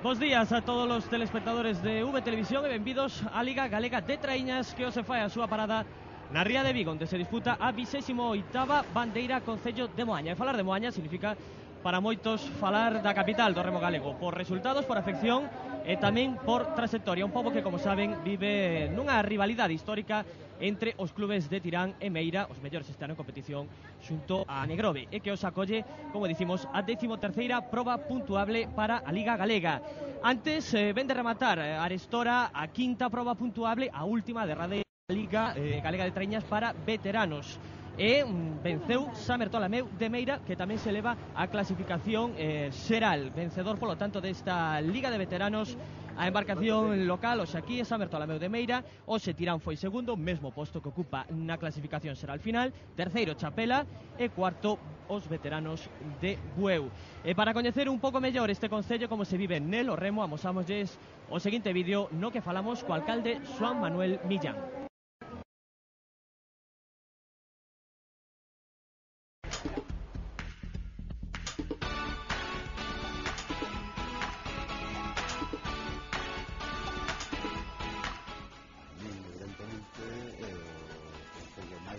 Bos días a todos os telespectadores de V Televisión e benvidos á Liga Galega de Traíñas, que hoxe fai a súa parada na Ría de Vigo, onde se disputa a 28ª Bandeira Concello de Moaña. E falar de Moaña significa para moitos falar da capital do remo galego, por resultados, por afección e tamén por trayectoria. Un pobo que, como saben, vive nunha rivalidade histórica entre os clubes de Tirán e Meira, os mellores este ano en competición, xunto a Negrove, e que os acolle, como dicimos, a 13ª proba puntuable para a Liga Galega. Antes, ven de rematar arestora a 5ª proba puntuable, a última derradeira Liga Galega de Traíñas para veteranos. E venceu San Bertolameu de Meira, que tamén se eleva a clasificación xeral. Vencedor, polo tanto, desta Liga de Veteranos, a embarcación local, hoxe aquí, San Bertolameu de Meira. Hoxe Tirán foi segundo, mesmo posto que ocupa na clasificación xeral final. Terceiro, Chapela, e cuarto, os veteranos de Bueu. E para coñecer un pouco mellor este concello, como se vive nel o remo, amosámoslles o seguinte vídeo no que falamos co alcalde Xoán Manuel Millán.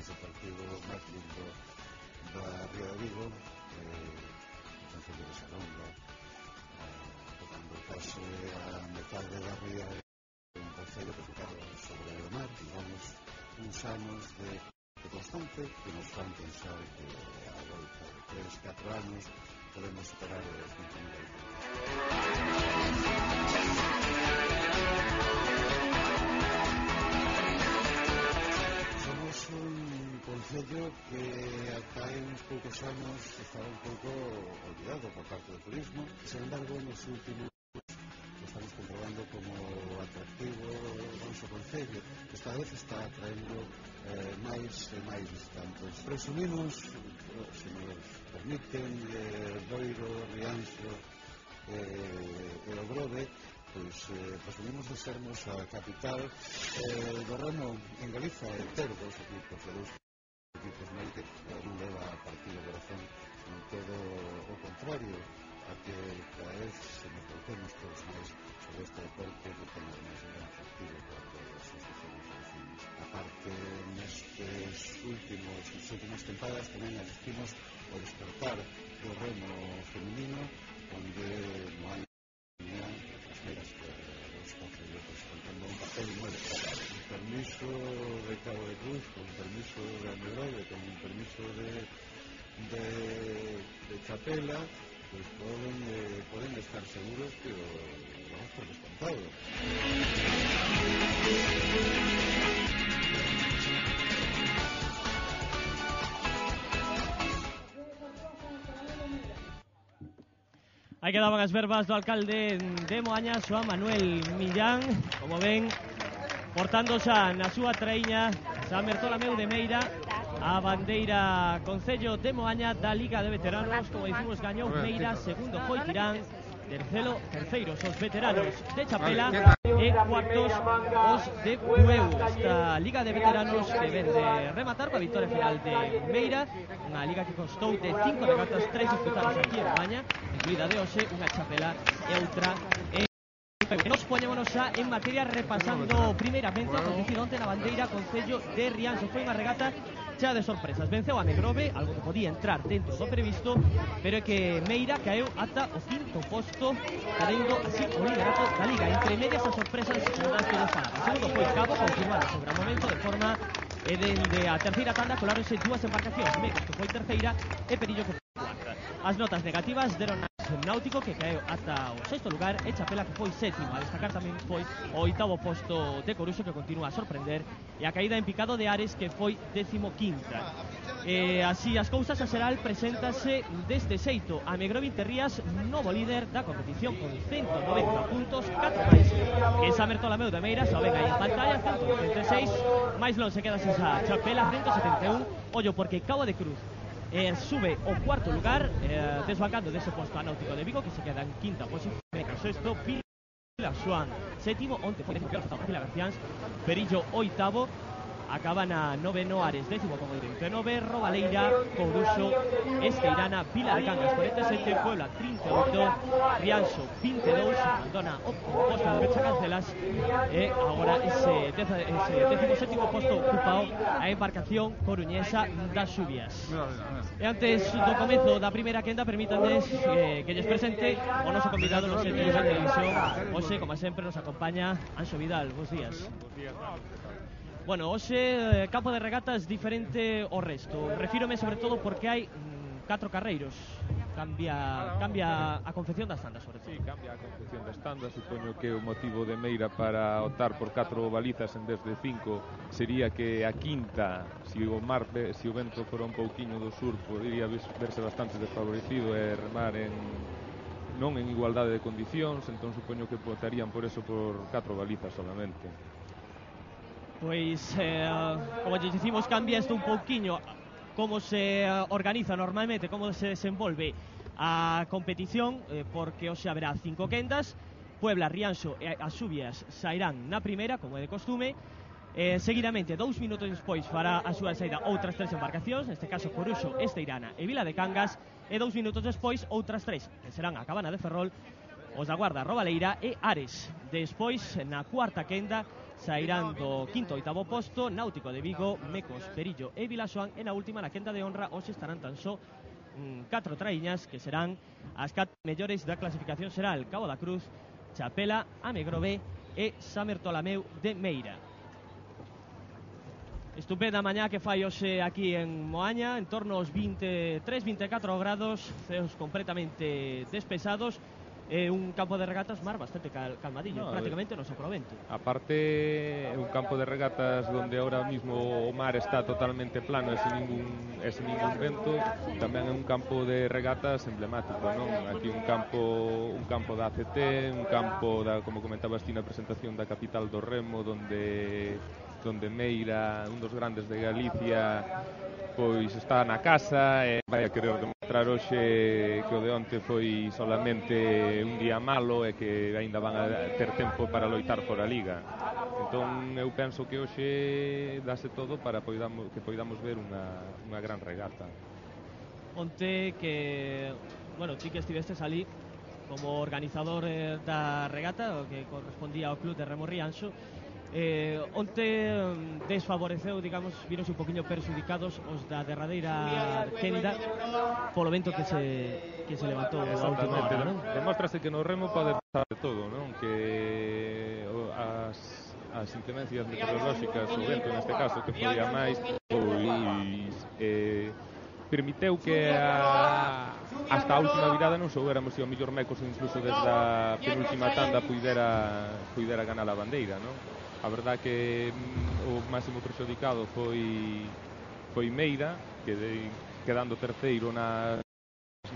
O partido máis lindo da Ría de Vigo, o Concello de Salonga, tocando case a metade da ría, un concello que ficaba sobre o mar, digamos, uns anos de constante que nos fan pensar que a volta de 3-4 anos podemos superar os 20.000 Somos un concello que ata hai uns poucos anos estaba un pouco olvidado por parte do turismo. Sin embargo, nos últimos estamos comprobando como atractivo o noso concello, que esta vez está atraendo máis e máis visitantes. Presumimos, se nos permiten, Boiro, Rianxo e o Grove, pois presumimos de sermos a capital do remo en Galiza, e ter dos equipos de dous equipos máis que non leva a partido de corazón, non todo o contrario, a que cada vez se nos volvemos todos máis sobre este deporte que ten máis un gran atractivo para todos os vecinos e vecinos. A parte, nestes últimas tempadas tamén asistimos ao despertar do remo feminino, onde non hai as meiras que os concellos están tendo un papel moi destacado. Con permiso de Cabo de Cruz, con permiso de Negrove, con permiso de Chapela, pues poden estar seguros que o vamos por descontado. Aí quedaban as verbas do alcalde de Moaña, Xoán Manuel Millán, como ven, portando xa na súa traíña San Bertolameu de Meira a bandeira Concello de Moaña da Liga de Veteranos. Como dicimos, gañou Meira, segundo foi Tirán, terceiros os veteranos de Chapela e cuartos os de Bueu. Esta Liga de Veteranos que ven de rematar coa victoria final de Meira, unha liga que constou de 5 regatas, 3 disputadas aquí en Moaña, incluída de hoxe, unha Chapela e outra en Nos poñémonos xa en materia repasando primeiramente a acontecido onte na bandeira Concello de Rianxo. Foi unha regata chea de sorpresas. Venceu a Negrove, algo que podía entrar dentro do previsto, pero é que Meira caeu ata o 5º posto, cadendo así o liderato da liga. Entre medias as sorpresas das que nos falan. O segundo foi Cabo, confirmado sobre o momento de forma dende a terceira tanda coláronse dúas embarcacións, Megos que foi terceira e Perillo que foi cuarta. As notas negativas deron a Náutico, que caeu ata o 6º lugar, e Chapela, que foi sétimo. A destacar tamén foi o 8º posto de Coruxo, que continúa a sorprender, e a caída en picado de Ares, que foi 15ª. Así as cousas, a xeral preséntase deste xeito. A Negrove Interrías, novo líder da competición con 190 puntos, 4 máis que San Bertolameu de Meira. Xa ven aí en pantalla, 196, máis non se queda esa Chapela, 171. Ollo, porque Cabo de Cruz sube o 4º lugar, desbancando dese posto a Náutico de Vigo, que se queda en 5ª posición. Sexto, Vila Xoán, sétimo, onte foi Pilar Garciáns, Perillo 8º, acaba na noveno Ares, décimo como 39, Robaleira, Coruxo, Esteirana, Vila de Cangas 47, Puebla 38, Rianxo 22, abandona o posto de Pechacancelas e agora ese 17º posto ocupado a embarcación coruñesa das Xubias. E antes do comezo da primeira quenda, permítanme que lles presente o noso convidado no Centro de Televisión. Hoxe, como sempre, nos acompaña Anxo Vidal. Bos días. Bueno, hoxe campo de regatas diferente ao resto. Refírome sobre todo porque hai 4 carreiros. Cambia a confección das tandas, sobre todo. Sí, cambia a confección das tandas. Supoño que o motivo de Meira para optar por 4 balizas en vez de 5 sería que a quinta, se o vento fora un pouquiño do sur, podría verse bastante desfavorecido e remar non en igualdade de condicións, entón supoño que votarían por eso por 4 balizas solamente. Pois, como lle dicimos, cambia isto un pouquiño como se organiza normalmente, como se desenvolve a competición, porque hoxe haberá 5 quendas. Puebla, Rianxo e as Xubias sairán na primeira, como é de costume. Seguidamente, 2 minutos despois fará a súa saída outras 3 embarcacións, neste caso Coruxo, Esteirana e Vila de Cangas, e 2 minutos despois outras 3, que serán a Cabana de Ferrol, os da Guarda, Robaleira e Ares. Despois, na cuarta quenda, sairán do quinto e oitavo posto Náutico de Vigo, Mecos, Perillo e Vilaxoán, e na última, na quenda de honra, hoxe estarán tan só 4 traíñas, que serán as 4 mellores da clasificación xeral: Cabo da Cruz, Chapela, Amegrove e Samertolameu de Meira. Estupenda mañá que fai hoxe aquí en Moaña, en torno aos 23-24 grados, ceos completamente despesados, é un campo de regatas bastante calmadillo, prácticamente no soprovento. Aparte, é un campo de regatas donde ahora mismo o mar está totalmente plano e sin ningún vento. Tamén é un campo de regatas emblemático, non? Aquí un campo da ACT, un campo como comentabas ti na presentación, da capital do remo, donde Meira, un dos grandes de Galicia, pois está na casa e vai a querer demostrar hoxe que o de onte foi solamente un día malo e que aínda van a ter tempo para loitar por a Liga. Entón eu penso que hoxe dase todo para que poidamos ver unha gran regata. Onte que, bueno, ti que estivestes ali como organizador da regata, o que correspondía ao Club de Remo Rianxo, onte desfavoreceu, digamos, vironse un poquinho perxudicados os da derradeira quenda polo vento que se levantou a última hora, non? Demóstrase que no remo pode pasar de todo, non? Que as inclemencias meteorolóxicas, o vento neste caso, que foi a máis, pois permiteu que hasta a última virada non soubéramos se o mellor Mecos incluso desde a penúltima tanda puidera ganar a bandeira, non? A verdad que o máximo perxudicado foi Meira, quedando terceiro na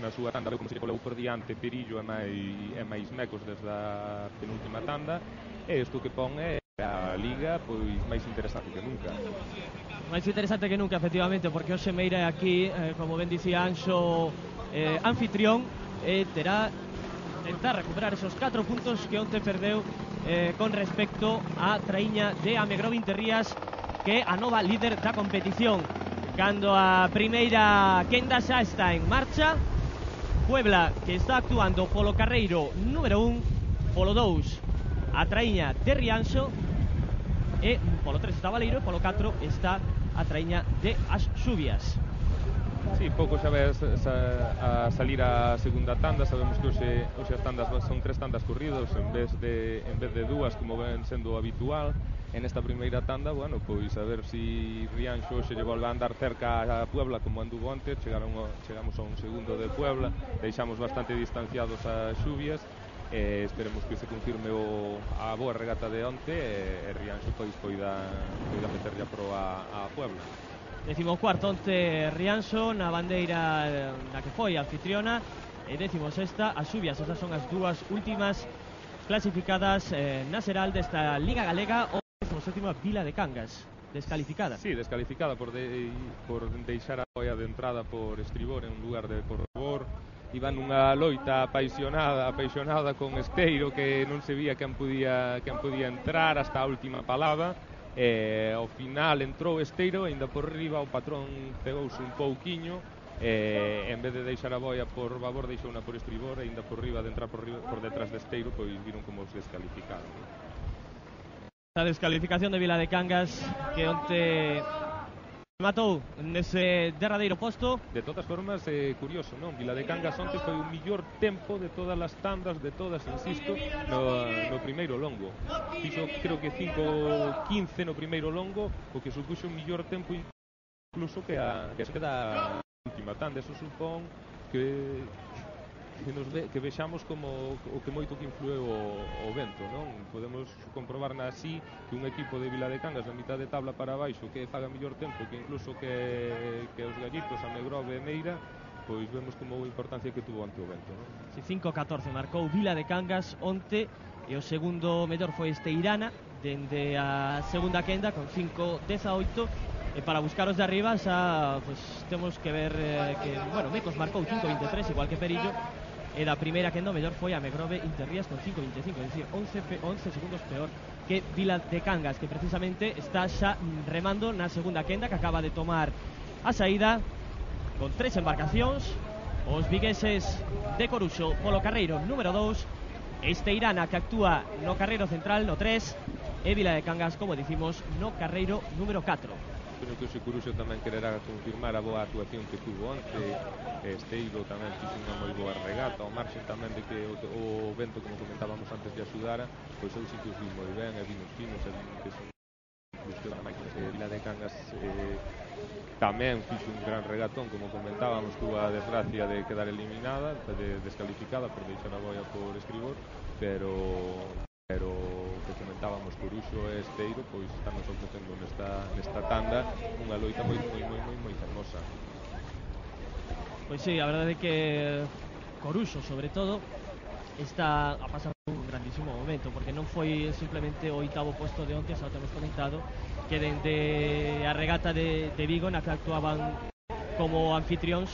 súa tanda, como se colou por diante Perillo e máis Mecos desde a penúltima tanda, e isto que pon é a Liga pois máis interesante que nunca. Máis interesante que nunca, efectivamente, porque hoxe Meira é aquí, como ben dicía Anxo, anfitrión, e terá tentar recuperar esos 4 puntos que onte perdeu con respecto a traíña de Amegrove Interrías, que é a nova líder da competición. Cando a primeira quenda xa está en marcha, Puebla, que está actuando polo carreiro número 1, polo 2 a traíña de Rianxo, e polo 3 está Valeiro, e polo 4 está a traíña de as Xubias. Sí, pouco xa ves a salir a segunda tanda. Sabemos que hoxe as tandas son 3 tandas corridos en vez de 2, como ven sendo habitual. En esta primeira tanda, bueno, pois a ver si Rianxo hoxe lle volve a andar cerca a Puebla como anduvo onte. Chegamos a un segundo de Puebla, deixamos bastante distanciados a Xubias, esperemos que se confirme a boa regata de onte e Rianxo pois poida meterlle a proa a Puebla. 14º onte Rianxo na bandeira na que foi anfitriona, e 16ª as Xubias. Esas son as dúas últimas clasificadas na xeral desta Liga Galega. O 17ª Vila de Cangas, descalificada. Sí, descalificada por deixar a boia de entrada por estribor en lugar de por rebor. Iban nunha loita apaixonada con Esteiro, que non se vía quen podía entrar hasta a última palada. Ao final entrou Esteiro, ainda por riba o patrón cegouse un pouquiño, en vez de deixar a boia por babor deixouna por estribor, e ainda por riba de entrar por detrás de Esteiro, pois viron como os descalificaron. A descalificación de Vila de Cangas, que onte matou nese derradeiro posto. De todas formas, curioso, non? Vila de Cangas onte foi o millor tempo de todas as tandas, de todas, insisto, no primeiro longo. Fixo, creo que 5:15 no primeiro longo, o que supuxo un millor tempo incluso que da última tanda. Eso supón que vexamos como o que moito que influeu o vento, non? Podemos comprobar así que un equipo de Vila de Cangas a mitad de tabla para baixo que faga mellor tempo que incluso que os gallitos, a Megrove e Meira, pois vemos como a importancia que tuvo ante o vento, non? Si 5:14 marcou Vila de Cangas onte, e o segundo mellor foi Esteirana dende a segunda quenda con 5:18. E para buscar os de arriba xa pues, temos que ver que, bueno, Mecos marcou 5:23 igual que Perillo, e da primeira quenda o mellor foi a Megrove Interrías con 5:25, é dicir, 11 segundos peor que Vila de Cangas, que precisamente está xa remando na segunda quenda, que acaba de tomar a saída con 3 embarcacións, os vigueses de Coruxo polo carreiro número 2, Esteirana, que actúa no carreiro central no 3, e Vila de Cangas, como dicimos, no carreiro número 4. Creo que o Securuxo tamén quererá confirmar a boa actuación que tuvo onte. Esteiro tamén fixo unha moi boa regata, ao marxen tamén de que o vento, como comentábamos antes, de axudara, pois eu sí que os vi moi ben, e vinos finos, e vin que son incluso a máquina de Vila de Cangas tamén fixo un gran regatón, como comentábamos, tuvo a desgracia de quedar eliminada, descalificada por deixar a boia por estribor, pero que comentábamos, Coruxo e Esteiro, pois estamos ofrecendo nesta tanda unha loita moi fermosa. Pois sí, a verdade é que Coruxo, sobre todo, está a pasar un grandísimo momento, porque non foi simplemente o 8º posto de onte, xa o temos comentado, que dende a regata de Vigo, na que actuaban como anfitrións,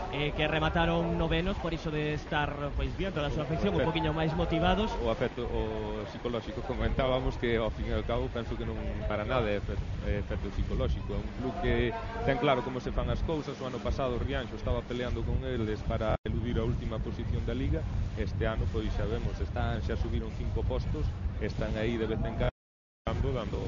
que remataron novenos, por iso de estar pois bien toda a súa afección, un poquinho máis motivados. O afecto psicolóxico, comentábamos que ao fin e ao cabo penso que non para nada é efecto psicolóxico, é un club que ten claro como se fan as cousas. O ano pasado o Rianxo estaba peleando con eles para eludir a última posición da Liga. Este ano pois xa vemos, xa subiron 5 postos, están aí de vez en cando dando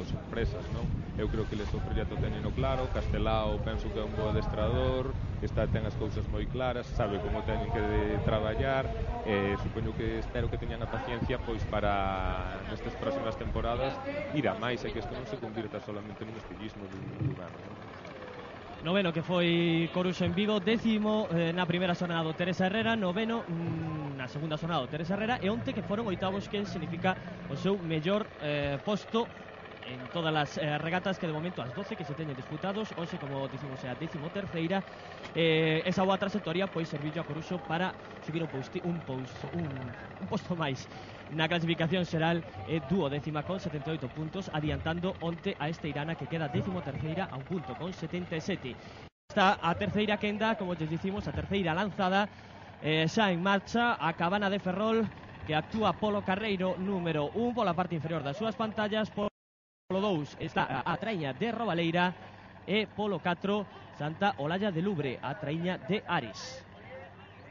sorpresas, non? Eu creo que eles o proxecto teñeno claro. Castelao penso que é un bo adestrador, ten as cousas moi claras, sabe como teñen que traballar, supoño que espero que teñan a paciencia pois para nestas próximas temporadas ir a máis, e que isto non se convirta solamente nun estillismo dun ano, non? Noveno que foi Coruxo en Vigo, 10º na primeira xornada do Teresa Herrera, noveno na segunda xornada do Teresa Herrera, e onte que foron 8avos, que significa o seu mellor posto en todas as regatas, que de momento as 12 que se teñen disputados. Hoxe, como dicimos, é a 13ª. Esa boa trayectoria pois serviu a Coruxo para subir un posto máis na clasificación xeral, é 12ª con 78 puntos, adiantando onte a Esteirana, que queda 13ª a un punto con 77. Está a terceira quenda, como lles dicimos, a terceira lanzada xa en marcha, a Cabana de Ferrol, que actúa polo carreiro número 1 pola parte inferior das súas pantallas. Polo 2 está a Traíña de Robaleira, e polo 4 Santa Olalla de Lubre, a Traíña de Ares.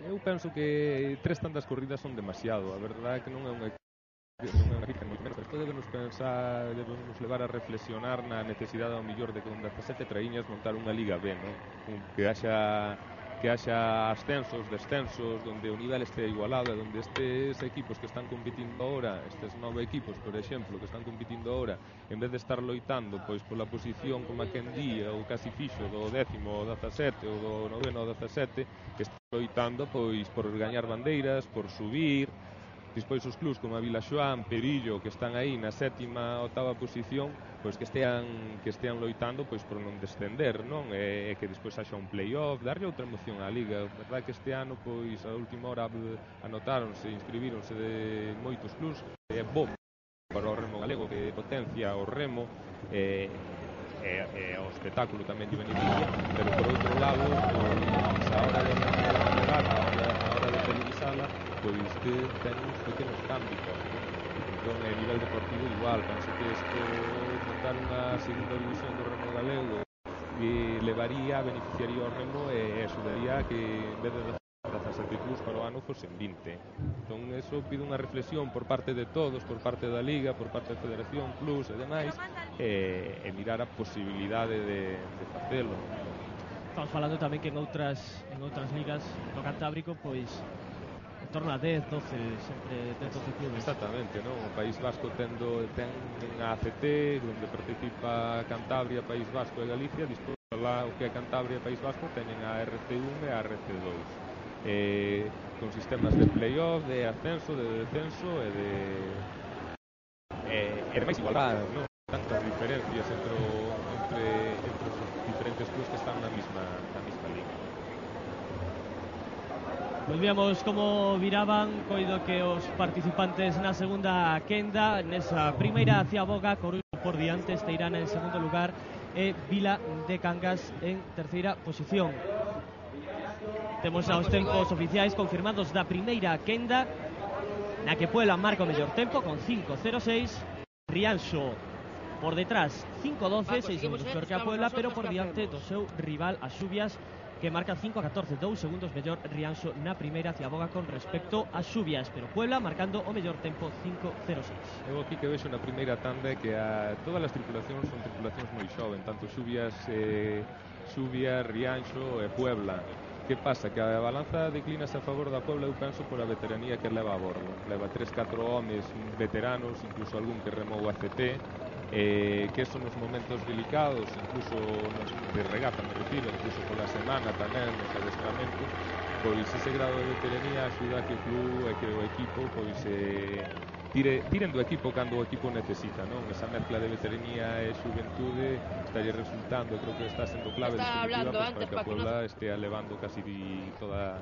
Eu penso que 3 tandas corridas son demasiado. A verdade é que non é unha equipe moi menos. Isto debemos levar a reflexionar na necesidade ao millor de que con 17 traíñas montar unha Liga B, non? Que haxa ascensos, descensos, donde o nivel este igualado, e donde estes equipos que están competindo ahora, estes 9 equipos, por exemplo, que están competindo ahora, en vez de estar loitando pois pola posición como a quen día, ou casi fixo do 10º ao 17 ou do 9º ao 17, que están loitando pois por gañar bandeiras, por subir. Despois os clubs como a Vilaxoán, Perillo, que están aí na 7ª, 8ª posición, pois que estean loitando pois por non descender, non? E que despois haxa un play-off, darlle outra emoción á Liga. A verdade que este ano pois a última hora anotáronse, inscribíronse de moitos clubs. É bo para o remo galego, que potencia o remo e o espectáculo tamén lle beneficia, pero por outro lado, pois a hora de regata, a hora de televisala, pois que ten uns pequenos cambios. Entón, a nivel deportivo igual, penso que isto montar unha segunda división do remo galego levaría, beneficiaría ao remo e axudaría a que en vez de 17 clubs para o ano fosen 20. Entón, eso pide unha reflexión por parte de todos, por parte da Liga, por parte da Federación, clubs e demais, e mirar a posibilidade de facelo. Estamos falando tamén que en outras ligas no Cantábrico, pois en torno a 10, 12, sempre 10, 12 clubes. Exactamente, non? O País Vasco ten a ACT, onde participa Cantabria, País Vasco e Galicia, despois lá o que é Cantabria e País Vasco teñen a RC1 e a RC2. Con sistemas de play-off, de ascenso, de descenso e de máis igualdade, non? Tantas diferencias entre os diferentes clubes que están na mesma liga. Pois víamos como viraban, coido que os participantes na segunda quenda, nesa primeira Ciaboga, Coruxo por diante, Esteirana en segundo lugar e Vila de Cangas en terceira posición. Temos aos tempos oficiais confirmados da primeira quenda, na que Puebla marca o mellor tempo con 5.06, Rianxo por detrás 5.12, 6 segundos peor que a Puebla, pero por diante do seu rival as Xubias, que marca 5.14, 2 segundos mellor Rianxo na primeira Ciaboga con respecto ás Xubias, pero Puebla marcando o mellor tempo 5.06. Eu aquí que vexo na primeira tanda é que todas as tripulacións son tripulacións moi xoven, tanto Xubias, Rianxo e Puebla. Que pasa? Que a balanza declínase a favor da Puebla, eu penso, por a veteranía que leva a bordo. Leva 3-4 homes veteranos, incluso algún que remou a CT, que son nos momentos delicados, incluso de regata, me refiro, incluso pola semana tamén, nos adestramentos, pois ese grado de veteranía axuda a que o club e que o equipo pois tiren do equipo cando o equipo necesita, non? Esa mezcla de veteranía e xuventude estalle resultando, creo que está sendo clave definitiva para que a Puebla estea levando casi toda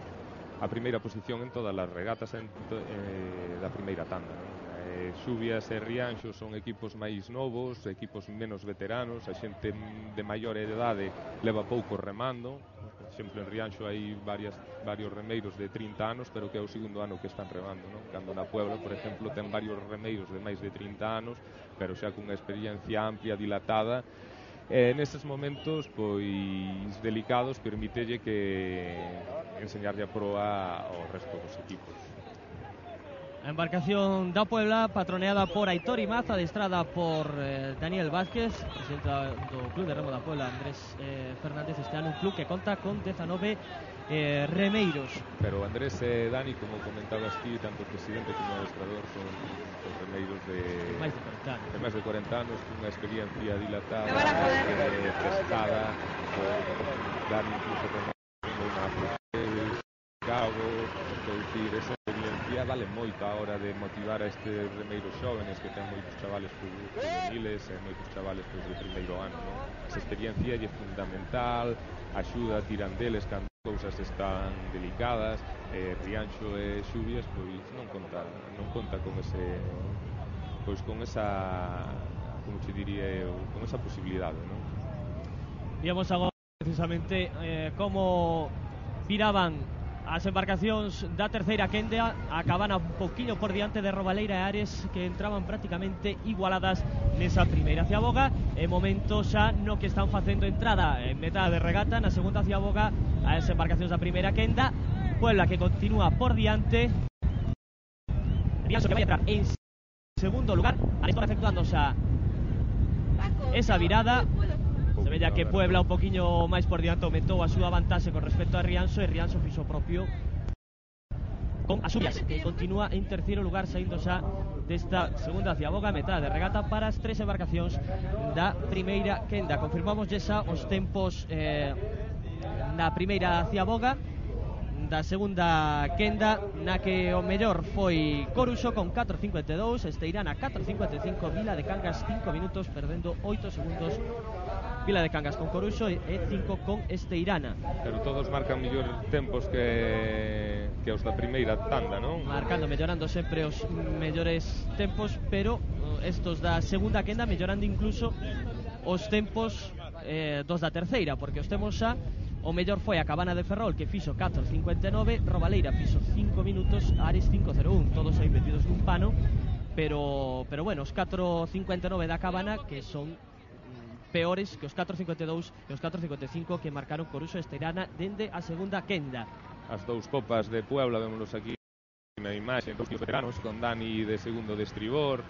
a primeira posición en todas as regatas da primeira tanda, non? Xubias e Rianxo son equipos máis novos, equipos menos veteranos, a xente de maior edade leva pouco remando. Por exemplo, en Rianxo hai varios remeiros de 30 anos, pero que é o segundo ano que están remando, non? Cando na Puebla, por exemplo, ten varios remeiros de máis de 30 anos, pero xa cunha experiencia amplia, dilatada. Neses momentos, pois, delicados, permítelle que enseñarlle a proa ao resto dos equipos. A embarcación da Puebla, patroneada por Aitor Imaz, adestrada por Daniel Vázquez, presidente do Club de Remo da Puebla, Andrés Fernández. Este ano un club que conta con 19 remeiros. Pero Andrés e Dani, como comentabas ti, tanto o presidente como o adestrador son remeiros de máis de 40 anos, cunha experiencia dilatada, testada, Dani incluso con unha Cabo, dicir, esa experiencia vale moito a hora de motivar a estes remeiros xóvenes que ten moitos chavales juveniles e moitos chavales de primeiro ano, non? Esa experiencia é fundamental, axuda, tiran deles cando cousas están delicadas. Rianxo e Xubias pois non conta con ese, pois con esa, como che diría eu, con esa posibilidade, non? Víamos agora precisamente como viraban as embarcacións da terceira quenda, acaban un poquinho por diante de Robaleira e Ares, que entraban prácticamente igualadas nesa primeira Ciaboga. E momento xa no que están facendo entrada en metade de regata na segunda Ciaboga as embarcacións da primeira quenda. Puebla que continúa por diante, Rianxo que vai entrar en segundo lugar, Ares efectuando xa esa virada. Se vella que Puebla un poquinho máis por diante aumentou a súa vantaxe con respecto a Rianxo, e Rianxo fixo propio con as Xubias, que continúa en terceiro lugar, saindo xa desta segunda Ciaboga, metade de regata para as tres embarcacións da primeira quenda. Confirmamos xa os tempos na primeira Ciaboga. Da segunda quenda, na que o mellor foi Coruxo con 4.52, Esteirana 4.55, Vila de Cangas 5 minutos, perdendo 8 segundos Vila de Cangas con Coruxo e 5 con Esteirana. Pero todos marcan mellor tempos que os da primeira tanda, non? Marcando, mellorando sempre os mellores tempos, pero estos da segunda quenda mellorando incluso os tempos dos da terceira, porque os temos xa. O mellor foi a Cabana de Ferrol, que fixo 4.59, Robaleira fixo 5 minutos, Ares 5.01, todos aí metidos nun pano. pero bueno, os 4.59 da Cabana que son peores que os 4.52 e os 4.55 que marcaron Coruxo e Esteirana dende a segunda quenda. As dous copas de Puebla, vémonos aquí na imaxe, dos veteranos, con Dani de segundo de estribor,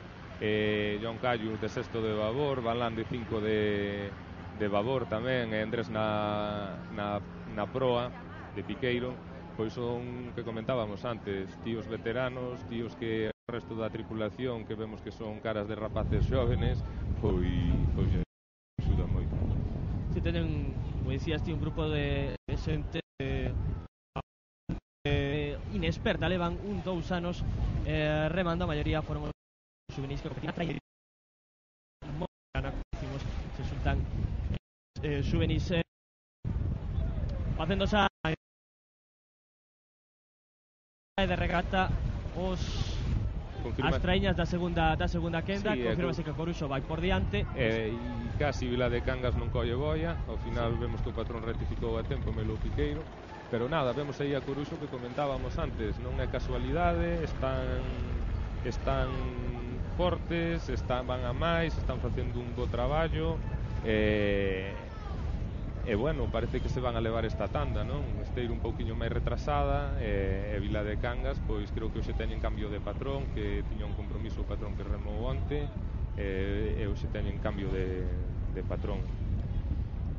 John Cayu de sexto de babor, Balán de 5 de babor tamén, e Andrés na proa de piqueiro. Pois son, que comentábamos antes, tíos veteranos, tíos que o resto da tripulación, que vemos que son caras de rapaces xóvenes, pois axuda moito. Se tenen, como dicías ti, un grupo de xente inexperta, levan 2 anos remando, a maioría foron os juvenis que competiran a traer se xuntan juvenis facendo xa de regata as traíñas da segunda quenda, sí, confirmase que Coruxo vai por diante, e casi Vila de Cangas non colle boia, ao final sí. Vemos que o patrón rectificou a tempo Melo Piqueiro, pero nada, vemos aí a Coruxo que comentábamos antes, non é casualidade, están fortes, van a máis, están facendo un bo traballo, e bueno, parece que se van a levar esta tanda, non? Esteiro un pouquiño máis retrasada, e Vila de Cangas, pois creo que hoxe teñen cambio de patrón, que tiña un compromiso o patrón que remou onte, e hoxe teñen cambio de patrón.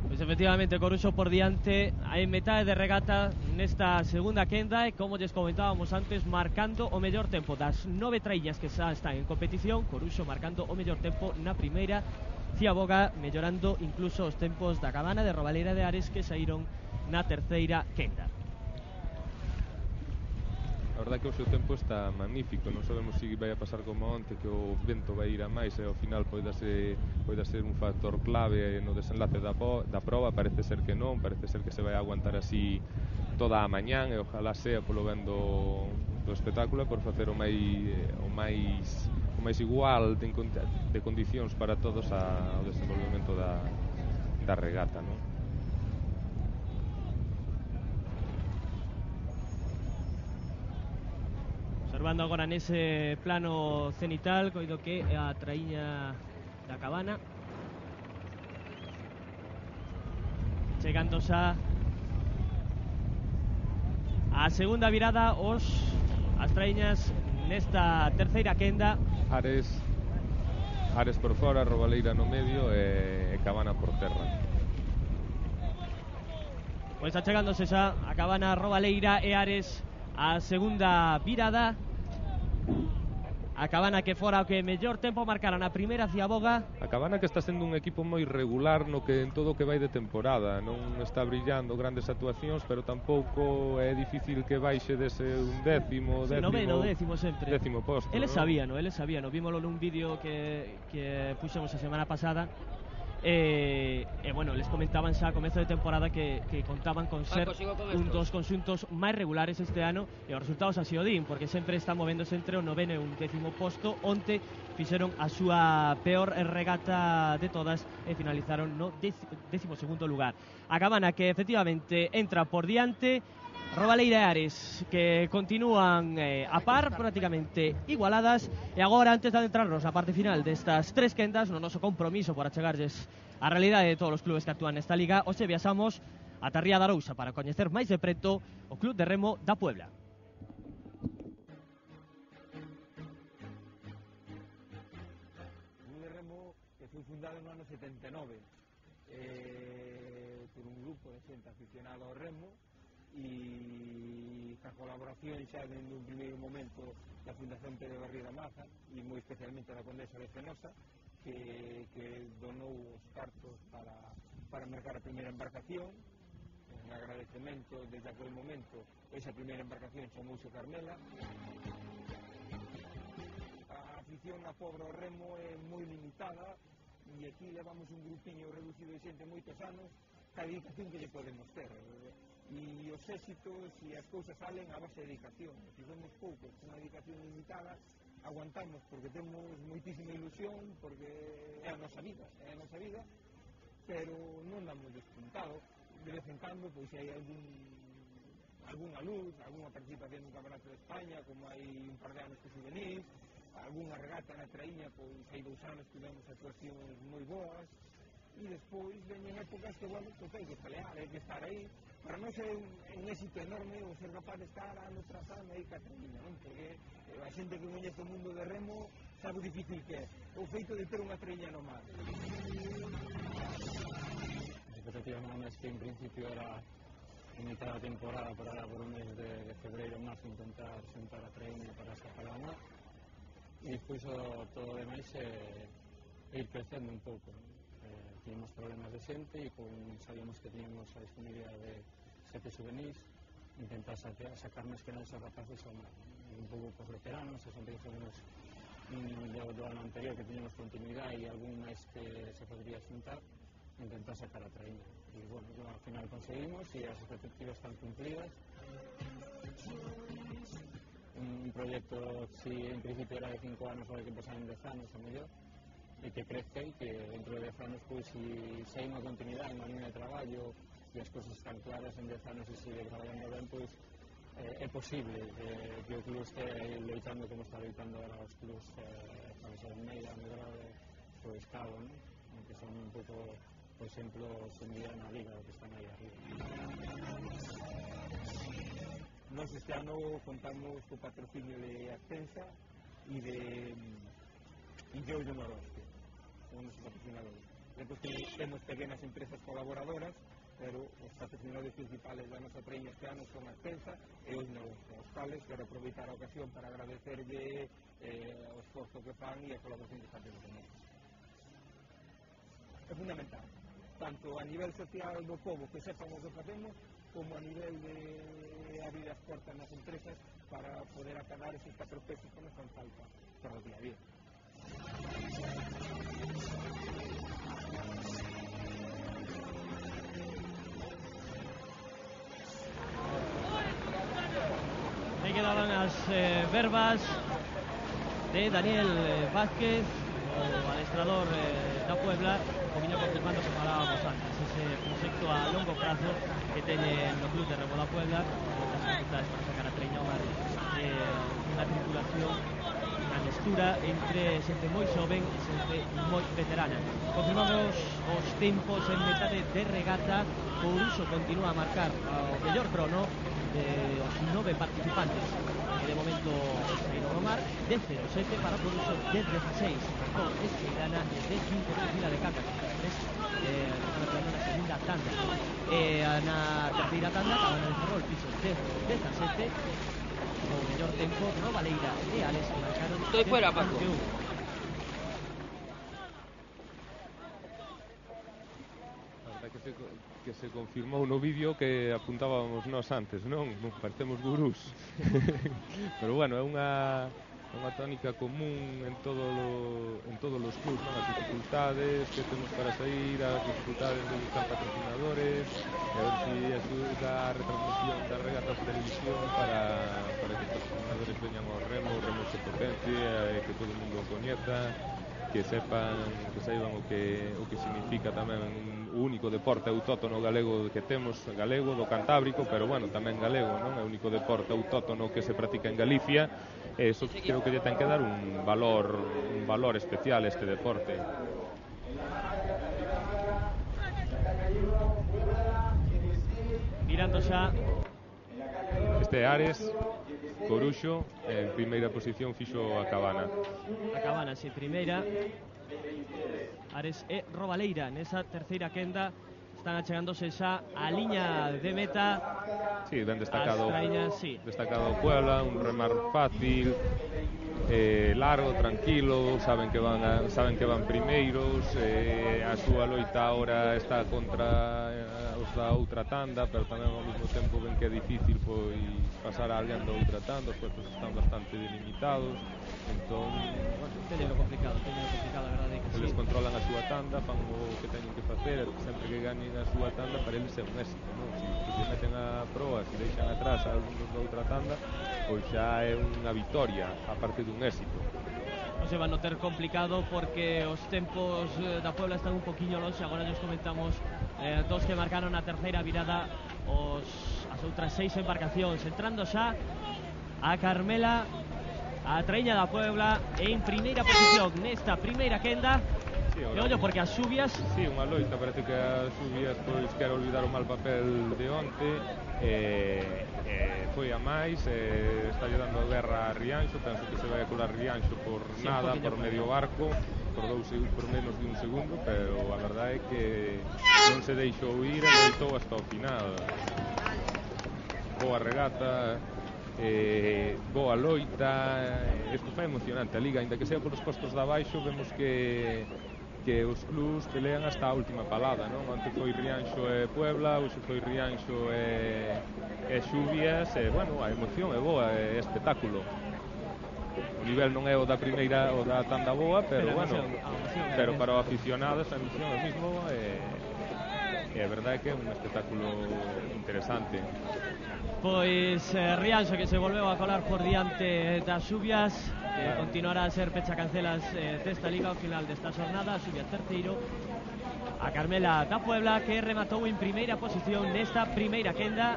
Pois efectivamente, Coruxo por diante, hai metade de regata nesta segunda quenda, e como lles comentábamos antes, marcando o mellor tempo das 9 traíñas que xa están en competición. Coruxo marcando o mellor tempo na primeira, Ciaboga mellorando incluso os tempos da Cabana, de Robaleira, de Ares, que saíron na terceira quenda. A verdade que o seu tempo está magnífico, non sabemos se vai a pasar como onte, que o vento vai ir a máis e ao final poida ser un factor clave no desenlace da proba. Parece ser que non, parece ser que se vai a aguantar así toda a mañán, e ojalá sea polo ben do espectáculo, por facer o máis igual de condicións para todos ao desenvolvemento da regata, non? Observando agora nese plano cenital, coido que a traíña da Cabana, chegando xa a segunda virada as traíñas nesta terceira quenda. Ares por fora, Robaleira no medio e Cabana por terra. Pois achegándose xa a Cabana, Robaleira e Ares a segunda virada. A Cabana que fora o que mellor tempo marcara na primeira Ciaboga. A Cabana que está sendo un equipo moi regular no que en todo o que vai de temporada, non está brillando grandes actuacións, pero tampouco é difícil que baixe dese un décimo sempre. Décimo posto. Eles sabíano, vímolo nun vídeo que puxemos a semana pasada. E bueno, les comentaban xa a comezo de temporada que contaban con ser un dos conxuntos máis regulares este ano, e os resultados así o din, porque sempre está movéndose entre o 9º e un 10º posto. Onte fixeron a súa peor regata de todas e finalizaron no 12º lugar. A Cabana que efectivamente entra por diante, Robaleira e Ares que continúan a par, prácticamente igualadas. E agora, antes de adentrarnos na parte final destas tres quendas, no noso compromiso por achegarlles a realidade de todos os clubes que actúan nesta liga, hoxe viaxamos ata Ría de Arousa para coñecer máis de preto o Club de Remo da Puebla. O Club de Remo que foi fundado no ano 79 por un grupo de xente aficionado ao remo, e a colaboración xa dende un primeiro momento da Fundación Pedro Garrido Maza e moi especialmente da Condesa de Fenosa, que donou os cartos para mercar a primeira embarcación. En agradecemento desde aquel momento, esa primeira embarcación chamouse Carmela. A afición a pobre ao remo é moi limitada, e aquí levamos un grupiño reducido de xente moitos anos ca dedicación que lle podemos ter. E os éxitos e as cousas salen a base de dedicación. Se somos poucos, unha dedicación limitada, aguantamos porque temos moitísima ilusión, porque é a nosa vida, pero non damos despuntado. De vez en cando, pois hai algunha luz, algunha participación no Campeonato de España, como hai un par de anos que juvenís, algunha regata na traíña, pois hai 2 anos tivemos actuacións moi boas, e despois veñen épocas que, bueno, pois hai que pelear, hai que estar aí. Para nós é un éxito enorme o ser capaz de estar ano tras ano aí ca traíña, non? Porque a xente que coñece o mundo de remo sabe o difícil que é o feito de ter unha traíña no mar. A expectativa no mes que en principio era iniciar a temporada para por un mes de febreiro marzo intentar sentar a traíña para escapar ao mar, e despois todo o demais ir crecendo un pouco. Tínhamos problemas de xente e sabíamos que tínhamos a disponibilidade de 7 juvenis, intentar sacar máis que nada esos rapaces ao mar. Un pouco por veteranos, a xente que fomos do ano anterior que teníamos continuidade e algún máis que se podría xuntar, intentar sacar a traíña. E, bueno, ao final conseguimos e as expectativas están cumplidas. Un proxecto que en principio era de 5 anos, ahora que pasan en 10 anos o mellor, e que crezca e que dentro de 10 anos, pois, se hai unha continuidade, unha línea de traballo e as cousas están claras en 10 anos e sigue traballando ben, pois é posible que o club este loitando como está loitando ahora os clubs de Meira, Medrado, o Escavo, que son un pouco, por exemplo, sumida na liga, que están aí arriba. Nos este ano contamos co patrocinio de Ascensa e de Ollo Noroeste, son os patrocinadores. Depois temos pequenas empresas colaboradoras, pero os patrocinadores principales da nosa traíña este ano son Ascensa e Ollo Noroeste, aos cuales quero aproveitar a ocasión para agradecerlle o esforzo que fan e a colaboración que están tendo con eles. É fundamental, tanto a nivel social do povo que sepan o que facemos, como a nivel de abrir as portas nas empresas para poder acadar esos 4 pesos que nos fan falta para o día a día. Aí quedaban as verbas de Daniel Vázquez, o adestrador da Puebla, o viña confirmando que falábamos antes, ese proxecto a longo prazo que teñen no Club de Remo da Puebla, moitas dificultades para sacar a traíña ao mar, unha tripulación, unha mestura entre xente moi xoven e xente moi veterana. Confirmamos os tempos en metade de regata. Couruxo continúa a marcar o mellor crono os 9 participantes que de momento saíron ao mar, de 0-7 para Couruxo, de 16 marcou Esqueirana e de 15 de Vila de Canda, na segunda tanda. Na terceira tanda Cabana de Ferrol fixo de 17, o mellor tempo Rovaleira e Ales marcaron. Estoy fuera, Paco. Que se confirmou no vídeo que apuntábamos nós antes, non? Parecemos gurús. Pero bueno, é unha tónica común en todos os clubs, non? As dificultades que temos para sair, as dificultades de buscar patrocinadores, e a ver si axuda a retransmisión das regatas de televisión para que os patrocinadores veñan ao remo, o remo se potencie, que todo o mundo o coñeza, que saiban o que significa tamén o único deporte autóctono galego que temos, galego do Cantábrico, pero bueno, tamén galego, non? É o único deporte autóctono que se practica en Galicia, e eso creo que lle ten que dar un valor especial a este deporte. Mirando xa este Ares, Coruxo, en primeira posición fixo a Cabana. A Cabana, si, primeira. Ares e Rovaleira nesa terceira quenda están achegándose xa a liña de meta. Sí, ben destacado. Sí. Destacado Puebla, un remar fácil, largo, tranquilo, saben que van primeiros, a súa loita agora está contra os da outra tanda, pero tamén ao mesmo tempo ven que é difícil pois pasar a alguén da outra tanda, os puestos están bastante delimitados, entón, bueno, teñeno complicado, a verdade que eles sí. controlan a súa tanda, fan o que teñen que facer, sempre que ganen a súa tanda para eles é un éxito, non? Se se meten a proa, se deixan atrás a algúns da outra tanda, pois xa é unha vitoria, aparte dun éxito. Non se van a ter complicado porque os tempos da Puebla están un poquinho longe. Agora nos comentamos dos que marcaron a terceira virada, as outras 6 embarcacións. Entrando xa a Carmela a Traíña da Puebla en primeira posición nesta primeira quenda. Sí, E ollo porque as xubias sí, unha loita, parece que as Xubias pois quer olvidar o mal papel de onte, foi a máis, está lle dando guerra a Rianxo, penso que se vai a colar Rianxo por sí, nada, por medio barco, por menos de un segundo, pero a verdade é que non se deixou ir e loitou hasta o final. Boa regata, boa loita, isto foi emocionante a liga, ainda que sea polos postos de abaixo, vemos que os clubs pelean hasta a última palada, non? Onte foi Rianxo e Puebla, hoxe foi Rianxo e Xubias, e, bueno, a emoción é boa, é espectáculo. O nivel non é o da primeira, o da tanda boa, pero bueno, pero para o aficionado esa emoción é mismo, e a verdade é que é un espectáculo interesante. Pois Rianxo que se volveu a colar por diante das Xubias, que continuará a ser pechacancelas desta liga ao final desta xornada. A Xubias terceiro, a Carmela da Puebla que rematou en primeira posición nesta primeira quenda,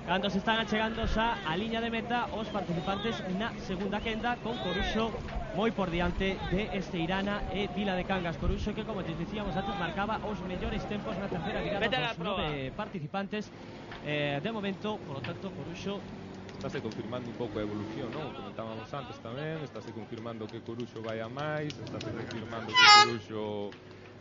cando se están achegando xa a liña de meta os participantes na segunda quenda, con Coruxo moi por diante de Esteirana e Vila de Cangas. Coruxo que, como te dicíamos antes, marcaba os mellores tempos na terceira virada dos 9 participantes. De momento, polo tanto, Coruxo estáse confirmando un pouco a evolución, non? Comentábamos antes tamén, estáse confirmando que Coruxo vai a máis, estáse confirmando que Coruxo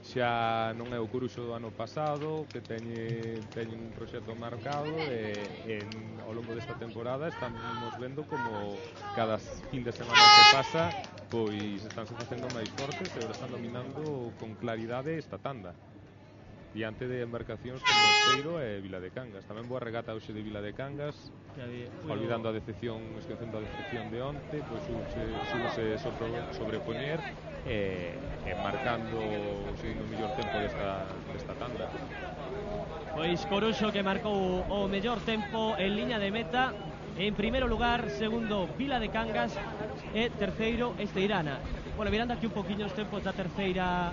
xa non é o Coruxo do ano pasado, que teñen un proxecto marcado, e ao longo desta temporada estamos vendo como cada fin de semana que pasa pois estánse facendo máis fortes e agora están dominando con claridade esta tanda diante de embarcacións como Esteiro e Vila de Cangas. Tamén boa regata hoxe de Vila de Cangas, olvidando a decepción, esquecendo a decepción de onte, pois súbose sobrepoñer e marcando o segundo mellor tempo desta tanda. Pois Coruxo que marcou o mellor tempo en liña de meta. En primeiro lugar, segundo Vila de Cangas e terceiro Esteirana. Bueno, mirando aquí un poquinho os tempos da terceira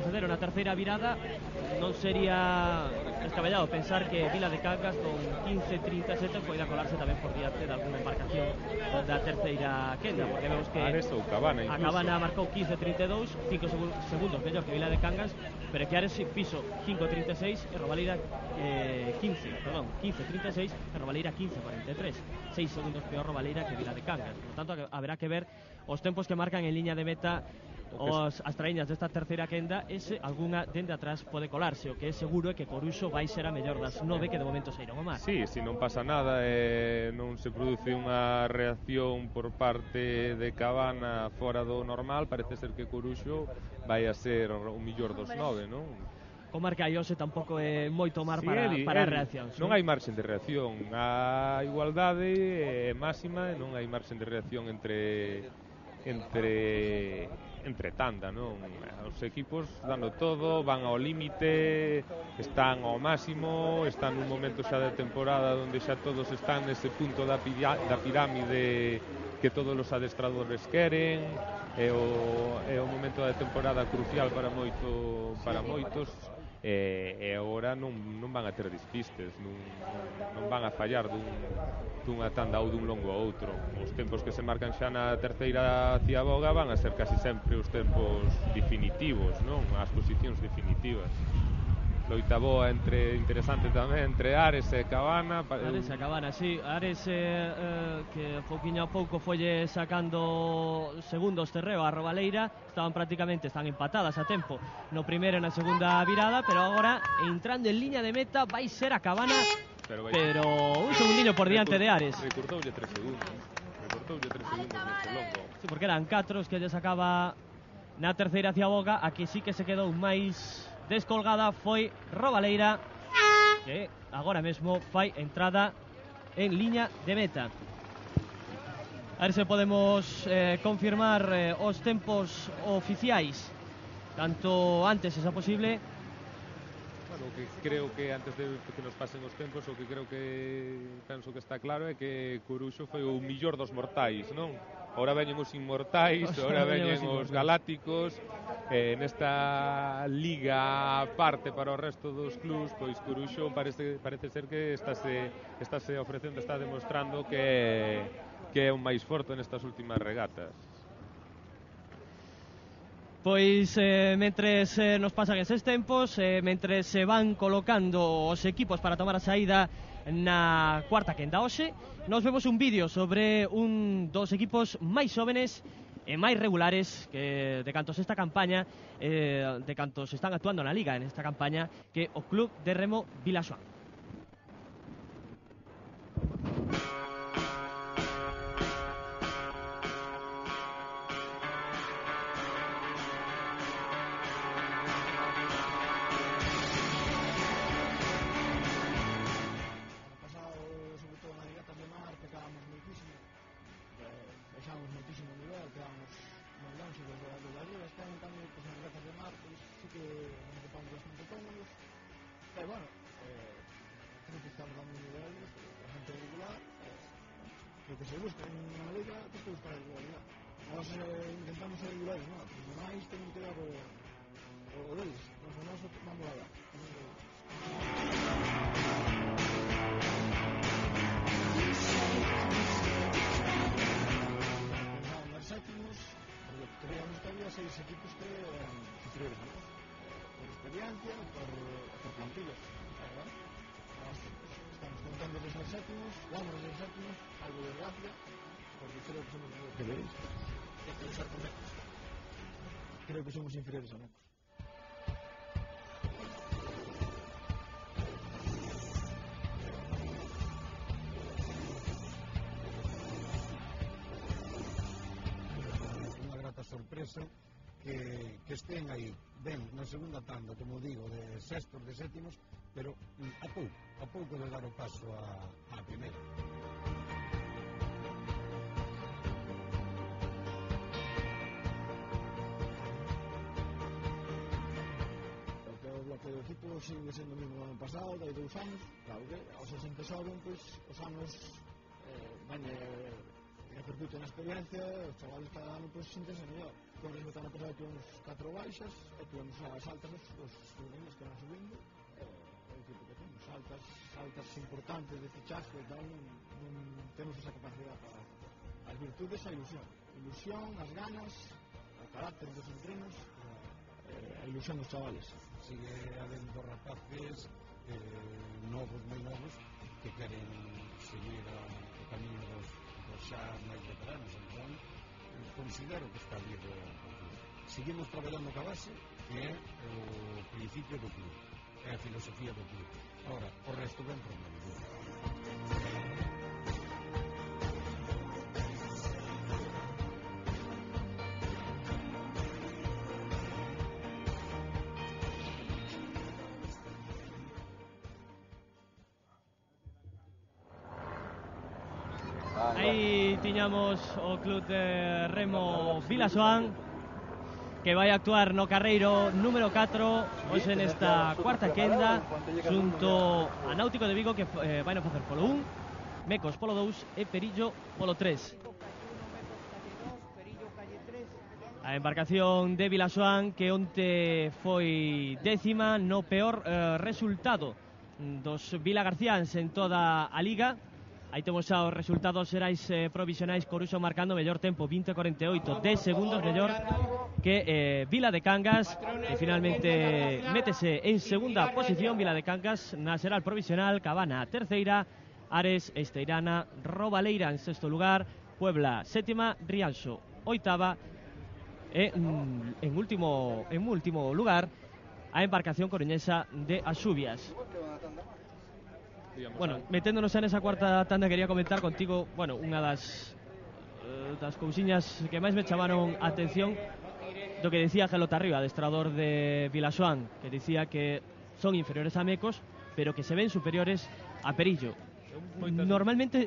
na terceira virada, non sería descabellado pensar que Vila de Cangas con 15.37 poida colarse tamén por diante de alguna embarcación da terceira quenda, porque vemos que Ares ou Cabana incluso. A Cabana marcou 15.32, 5 segundos mellor que Vila de Cangas, pero que Ares fixo 5.36 e Robaleira 15.36 e Robaleira 15.43, 6 segundos peor Robaleira que Vila de Cangas. Por tanto, haberá que ver os tempos que marcan en liña de meta as traíñas desta terceira quenda, e se algunha dende atrás pode colarse. O que é seguro é que Coruxo vai ser a mellor das 9 que de momento saíron ao mar. Sí, se non pasa nada e non se produce unha reacción por parte de Cabana fora do normal, parece ser que Coruxo vai a ser o mellor dos 9, non? O marca Iose tampouco é moito mar para reaccións. Non hai marxen de reacción, a igualdade é máxima e non hai marxen de reacción entre tanda, non? Os equipos dando todo, van ao límite, están ao máximo, están nun momento xa de temporada onde xa todos están nese punto da pirámide que todos os adestradores queren, é o momento da temporada crucial para moitos, e agora non van a ter despistes, non van a fallar dunha tanda ou dun longo a outro. Os tempos que se marcan xa na terceira ciaboga van a ser casi sempre os tempos definitivos, non? As posicións definitivas. Loita boa interesante tamén entre Ares e Cabana. Ares e Cabana, sí. Ares que pouquiño a pouco folle sacando segundos terreo a Robaleira. Están empatadas a tempo no primeiro e na segunda virada, pero agora entrando en liña de meta vai ser a Cabana, pero un segundiño por diante de Ares. Recortoulle 3 segundos neste longo. Sí, porque eran 4 os que lle sacaba na terceira ciaboga. A que sí que se quedou máis descolgada foi Robaleira, que agora mesmo fai entrada en liña de meta. A ver se podemos confirmar os tempos oficiais tanto antes esa posible. Bueno, que creo que antes de que nos pasen os tempos, o que penso que está claro é que Coruxo foi o millor dos mortais, non? Ora veñen os inmortais, ora veñen os galácticos. Nesta liga aparte para o resto dos clubs, pois Coruxo parece ser que estáse ofrecendo, está demostrando que que é o máis forte nestas últimas regatas. Pois mentres nos pasan eses tempos, mentres se van colocando os equipos para tomar a saída na cuarta quenda hoxe, nos vemos un vídeo sobre un dos equipos máis xóvenes e máis regulares que de cantos esta campaña, de cantos están actuando na Liga en esta campaña, que o Club de Remo Vilasoán. Lo que se busca en unha liga é que se busca a regularidade. Nós intentamos ser regulares, non? Os demais temen que dar o deles. Nós vamos a dar. Pensaban dar séptimos, porque creíamos que había 6 equipos que eran superiores a nós. Por experiencia, por plantillas. Nós estamos contando de ser séptimos, vamos a ser séptimos, algo de gracia, porque creo que somos que veréis. Creo que somos inferiores a Mecos. Unha grata sorpresa que estén aí ben na segunda tanda, como digo, de sextos, de sétimos, pero a pouco de dar o paso á primeira. O bloque do equipo sigue sendo o mesmo do ano pasado, de 2 anos, claro que aos 60 xoven, pois os anos repercute na experiencia, os chavales cada ano pois sintense mellor. Con o ano pasado tivemos 4 baixas, e tivemos as altas dos juveniles que van subindo, o equipo que temos, altas importantes de fichaje e tal, non temos esa capacidade para as virtudes e a ilusión, as ganas, o carácter dos entrenos, a ilusión dos chavales. Sigue habendo rapaces novos, moi novos, que queren seguir o camiño dos xa máis veteranos, entón considero que está vivo o club. Seguimos traballando ca base, que é o principio do club, é a filosofía do club. Ahora, o resto ben por medio. Aí tiñamos o Club de Remo Vilasoán, que vai actuar no carreiro número 4 hoxe nesta cuarta quenda, xunto a Náutico de Vigo, que vai non facer polo 1, Mecos polo 2 e Perillo polo 3. A embarcación de Vilasoán, que onte foi 10ª no peor resultado dos vilagarciáns en toda a Liga. Aí temos xa os resultados xerais provisionais. Coruxo marcando mellor tempo, 20:48, 10 segundos mellor que Vila de Cangas, que finalmente métese en segunda posición. Vila de Cangas na xeral provisional, Cabana terceira, Ares, Esteirana, Robaleira en sexto lugar, Puebla sétima, Rianxo oitava e en último lugar a embarcación coruñesa de Axubias. Bueno, meténdonos en esa cuarta tanda, quería comentar contigo, bueno, unha das cousiñas que máis me chamaron a atención do que decía Gelo Tarriba, adestrador de Vilasoán, que decía que son inferiores a Mecos, pero que se ven superiores a Perillo. Normalmente,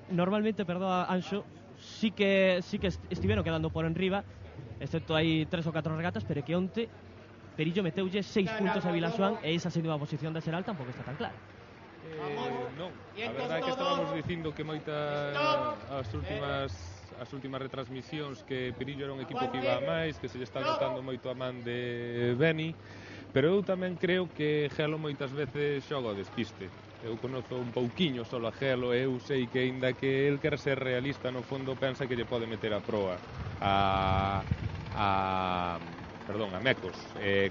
perdoa Anxo, sí que estiveron quedando por enriba, excepto hai 3 ou 4 regatas, pero que onte Perillo meteulle 6 puntos a Vilasoán e esa segunda posición da xeral tampouco está tan clara. Non, a verdade é que estábamos dicindo que as últimas retransmisións que Perillo era un equipo que iba a máis, que se lle está notando moito a man de Beni, pero eu tamén creo que Gelo moitas veces xoga o despiste. eu conozo un pouquiño solo a Gelo e eu sei que aínda que el quer ser realista no fondo pensa que lle pode meter a proa a Mecos.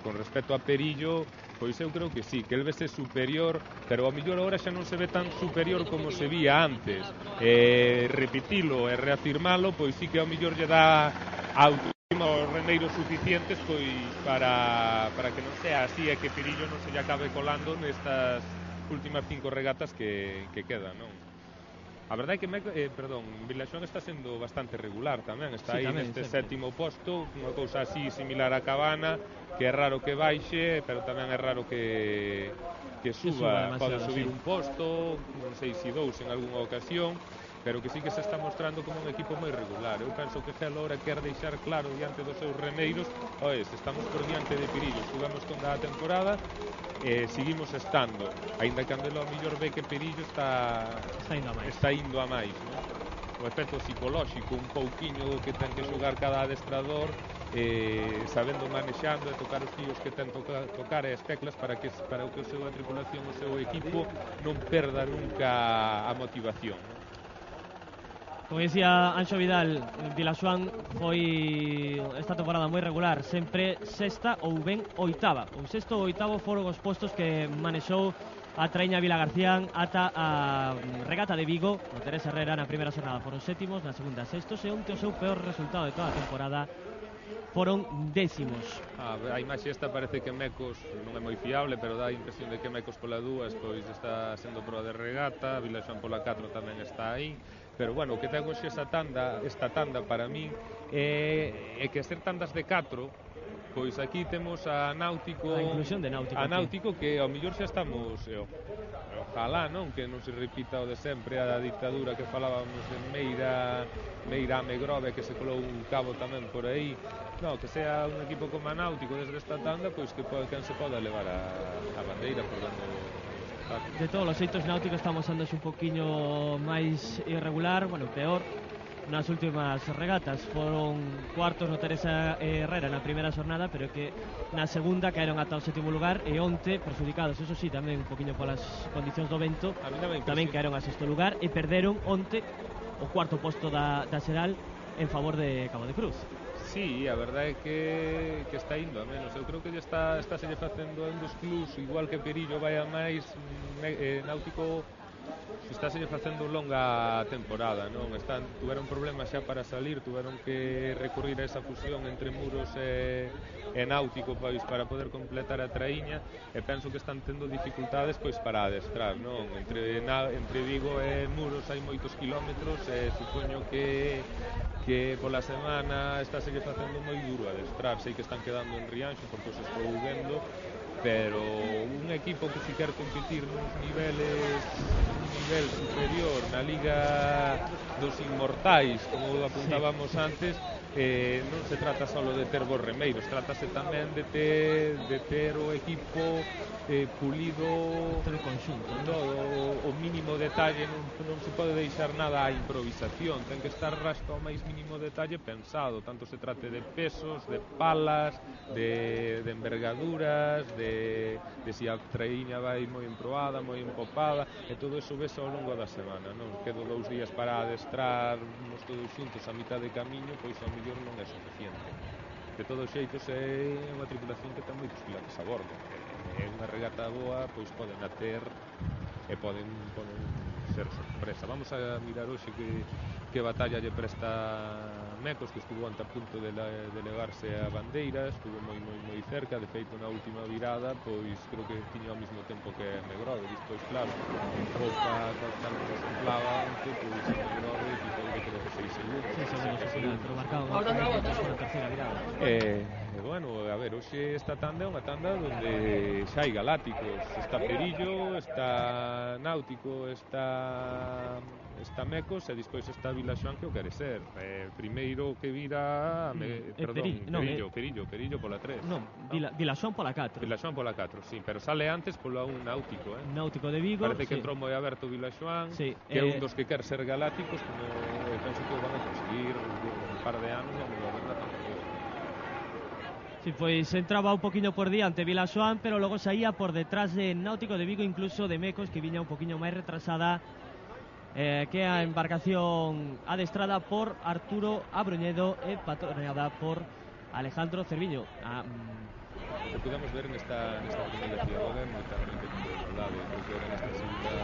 Con respecto a Perillo, pois eu creo que sí, que el vese superior, pero ao mellor agora xa non se ve tan superior como se vía antes. Repetilo e reafirmalo, pois sí que ao mellor lle dá autoestima aos remeiros suficientes pois para que non sea así e que Perillo non se lle acabe colando nestas últimas 5 regatas que quedan, non? A verdade é que Vilaxoán está sendo bastante regular tamén, está sí, aí tamén, neste sempre. sétimo posto, unha cousa así similar a Cabana, que é raro que baixe, pero tamén é raro que suba, pode subir un posto, non sei se dous en algunha ocasión, pero que sí que se está mostrando como un equipo moi regular. Eu penso que Gelo ahora quer deixar claro diante dos seus remeiros, estamos por diante de Perillo, estuvemos toda a temporada, seguimos estando, aínda que Andelo ao mellor ve que Perillo está indo a máis, non? O efecto psicolóxico un pouquiño que ten que xogar cada adestrador, sabendo manexando e tocar os tíos que ten tocar e as teclas para que a súa tripulación, o seu equipo non perda nunca a motivación, non? Como dicía Anxo Vidal, Vilaxoán foi esta temporada moi regular, sempre sexta ou ben oitava. O sexto ou oitavo foron os postos que manexou a traíña Vilagarcía ata a regata de Vigo. No Teresa Herrera na primeira xornada foron sétimos, na segunda sextos e onte o seu peor resultado de toda a temporada foron décimos. A imaxe esta parece que Mecos non é moi fiable, pero dá a impresión de que Mecos pola 2 pois está sendo proa de regata, Vilaxoán pola 4 tamén está aí, pero bueno, o que ten hoxe esta tanda para min é que ser tandas de 4, pois aquí temos a Náutico, a inclusión de Náutico, a Náutico que ao mellor xa estamos, ojalá non que non se repita o de sempre, a dictadura que falábamos de Meira Megrove, que se colou un cabo tamén por aí. No, que sea un equipo como a Náutico desde esta tanda, pois que quen se poda levar a bandeira por donde está. De todos os xeitos, Náutico está mosándose un poquinho máis irregular, bueno, peor nas últimas regatas. Foron cuartos no Teresa Herrera na primeira xornada, pero que na segunda caeron ata o sétimo lugar e onte perjudicados, eso sí, tamén un poquinho polas condicións do vento, tamén caeron a sexto lugar e perderon onte o cuarto posto da xeral en favor de Cabo de Cruz. Sí, a verdade é que está indo a menos. Eu creo que está se lle facendo en dos clubs, igual que Perillo vai a máis, Náutico está se lle facendo longa temporada, non? Tuveron problemas xa para salir, tuveron que recurrir a esa fusión entre Muros e Náutico pois para poder completar a traíña, e penso que están tendo dificultades pois para adestrar, non? Entre Vigo e Muros hai moitos kilómetros e supoño que pola semana está se lle facendo moi duro adestrar. Sei que están quedando en Rianxo porque os estou vendo, pero un equipo que si quer competir nun nivel superior na Liga dos Inmortais, como apuntábamos antes, non se trata só de ter bons remeiros, trátase tamén de ter o equipo pulido, todo o conxunto, todo o mínimo detalle, non se pode deixar nada á improvisación, ten que estar hasta o máis mínimo detalle pensado, tanto se trate de pesos, de palas, de envergaduras, de se a traíña vai moi emproada, moi empopada, e todo eso ves ao longo da semana, non? Quedo 2 días para adestrarnos todos xuntos a mitad de camiño, pois ao mellor non é suficiente. De todos xeitos é unha tripulación que ten moitos pilotos a bordo, é unha regata boa, pois poden ater e poden ser sorpresa. Vamos a mirar hoxe que batalla lle presta Mecos, que estuvo ante a punto de levarse a bandeira, estuvo moi cerca, de feito na última virada, pois creo que tiña ao mesmo tempo que Megrove, despois claro, Copa tal como se inflaba antes, pois Megrove quitoulle creo que 6 segundos. 6 segundos ao final, pero marcado na terceira virada. Bueno, a ver, hoxe esta tanda é unha tanda onde xa hai galácticos, está Perillo, está Náutico, está Mecos e despois está Vilaxoán, que o quere ser. Primeiro que vira Perillo pola 3. Non, Vilaxoán pola 4. Vilaxoán pola 4, sí, pero sale antes pola 1 Náutico, Náutico de Vigo. Parece que entrou moi aberto Vilaxoán, sí, que é un dos que quer ser galácticos, como penso que o van a conseguir un par de anos, a verdade tampouco. Sí, pois entraba un poquinho por diante Vilasoán, pero logo saía por detrás de Náutico de Vigo, incluso de Mecos, que viña un poquinho máis retrasada que a embarcación adestrada por Arturo Abroñedo e patroneada por Alejandro Cerviño. Que podemos ver nesta primeira tirada é moita igualdade. Pois ver nesta segunda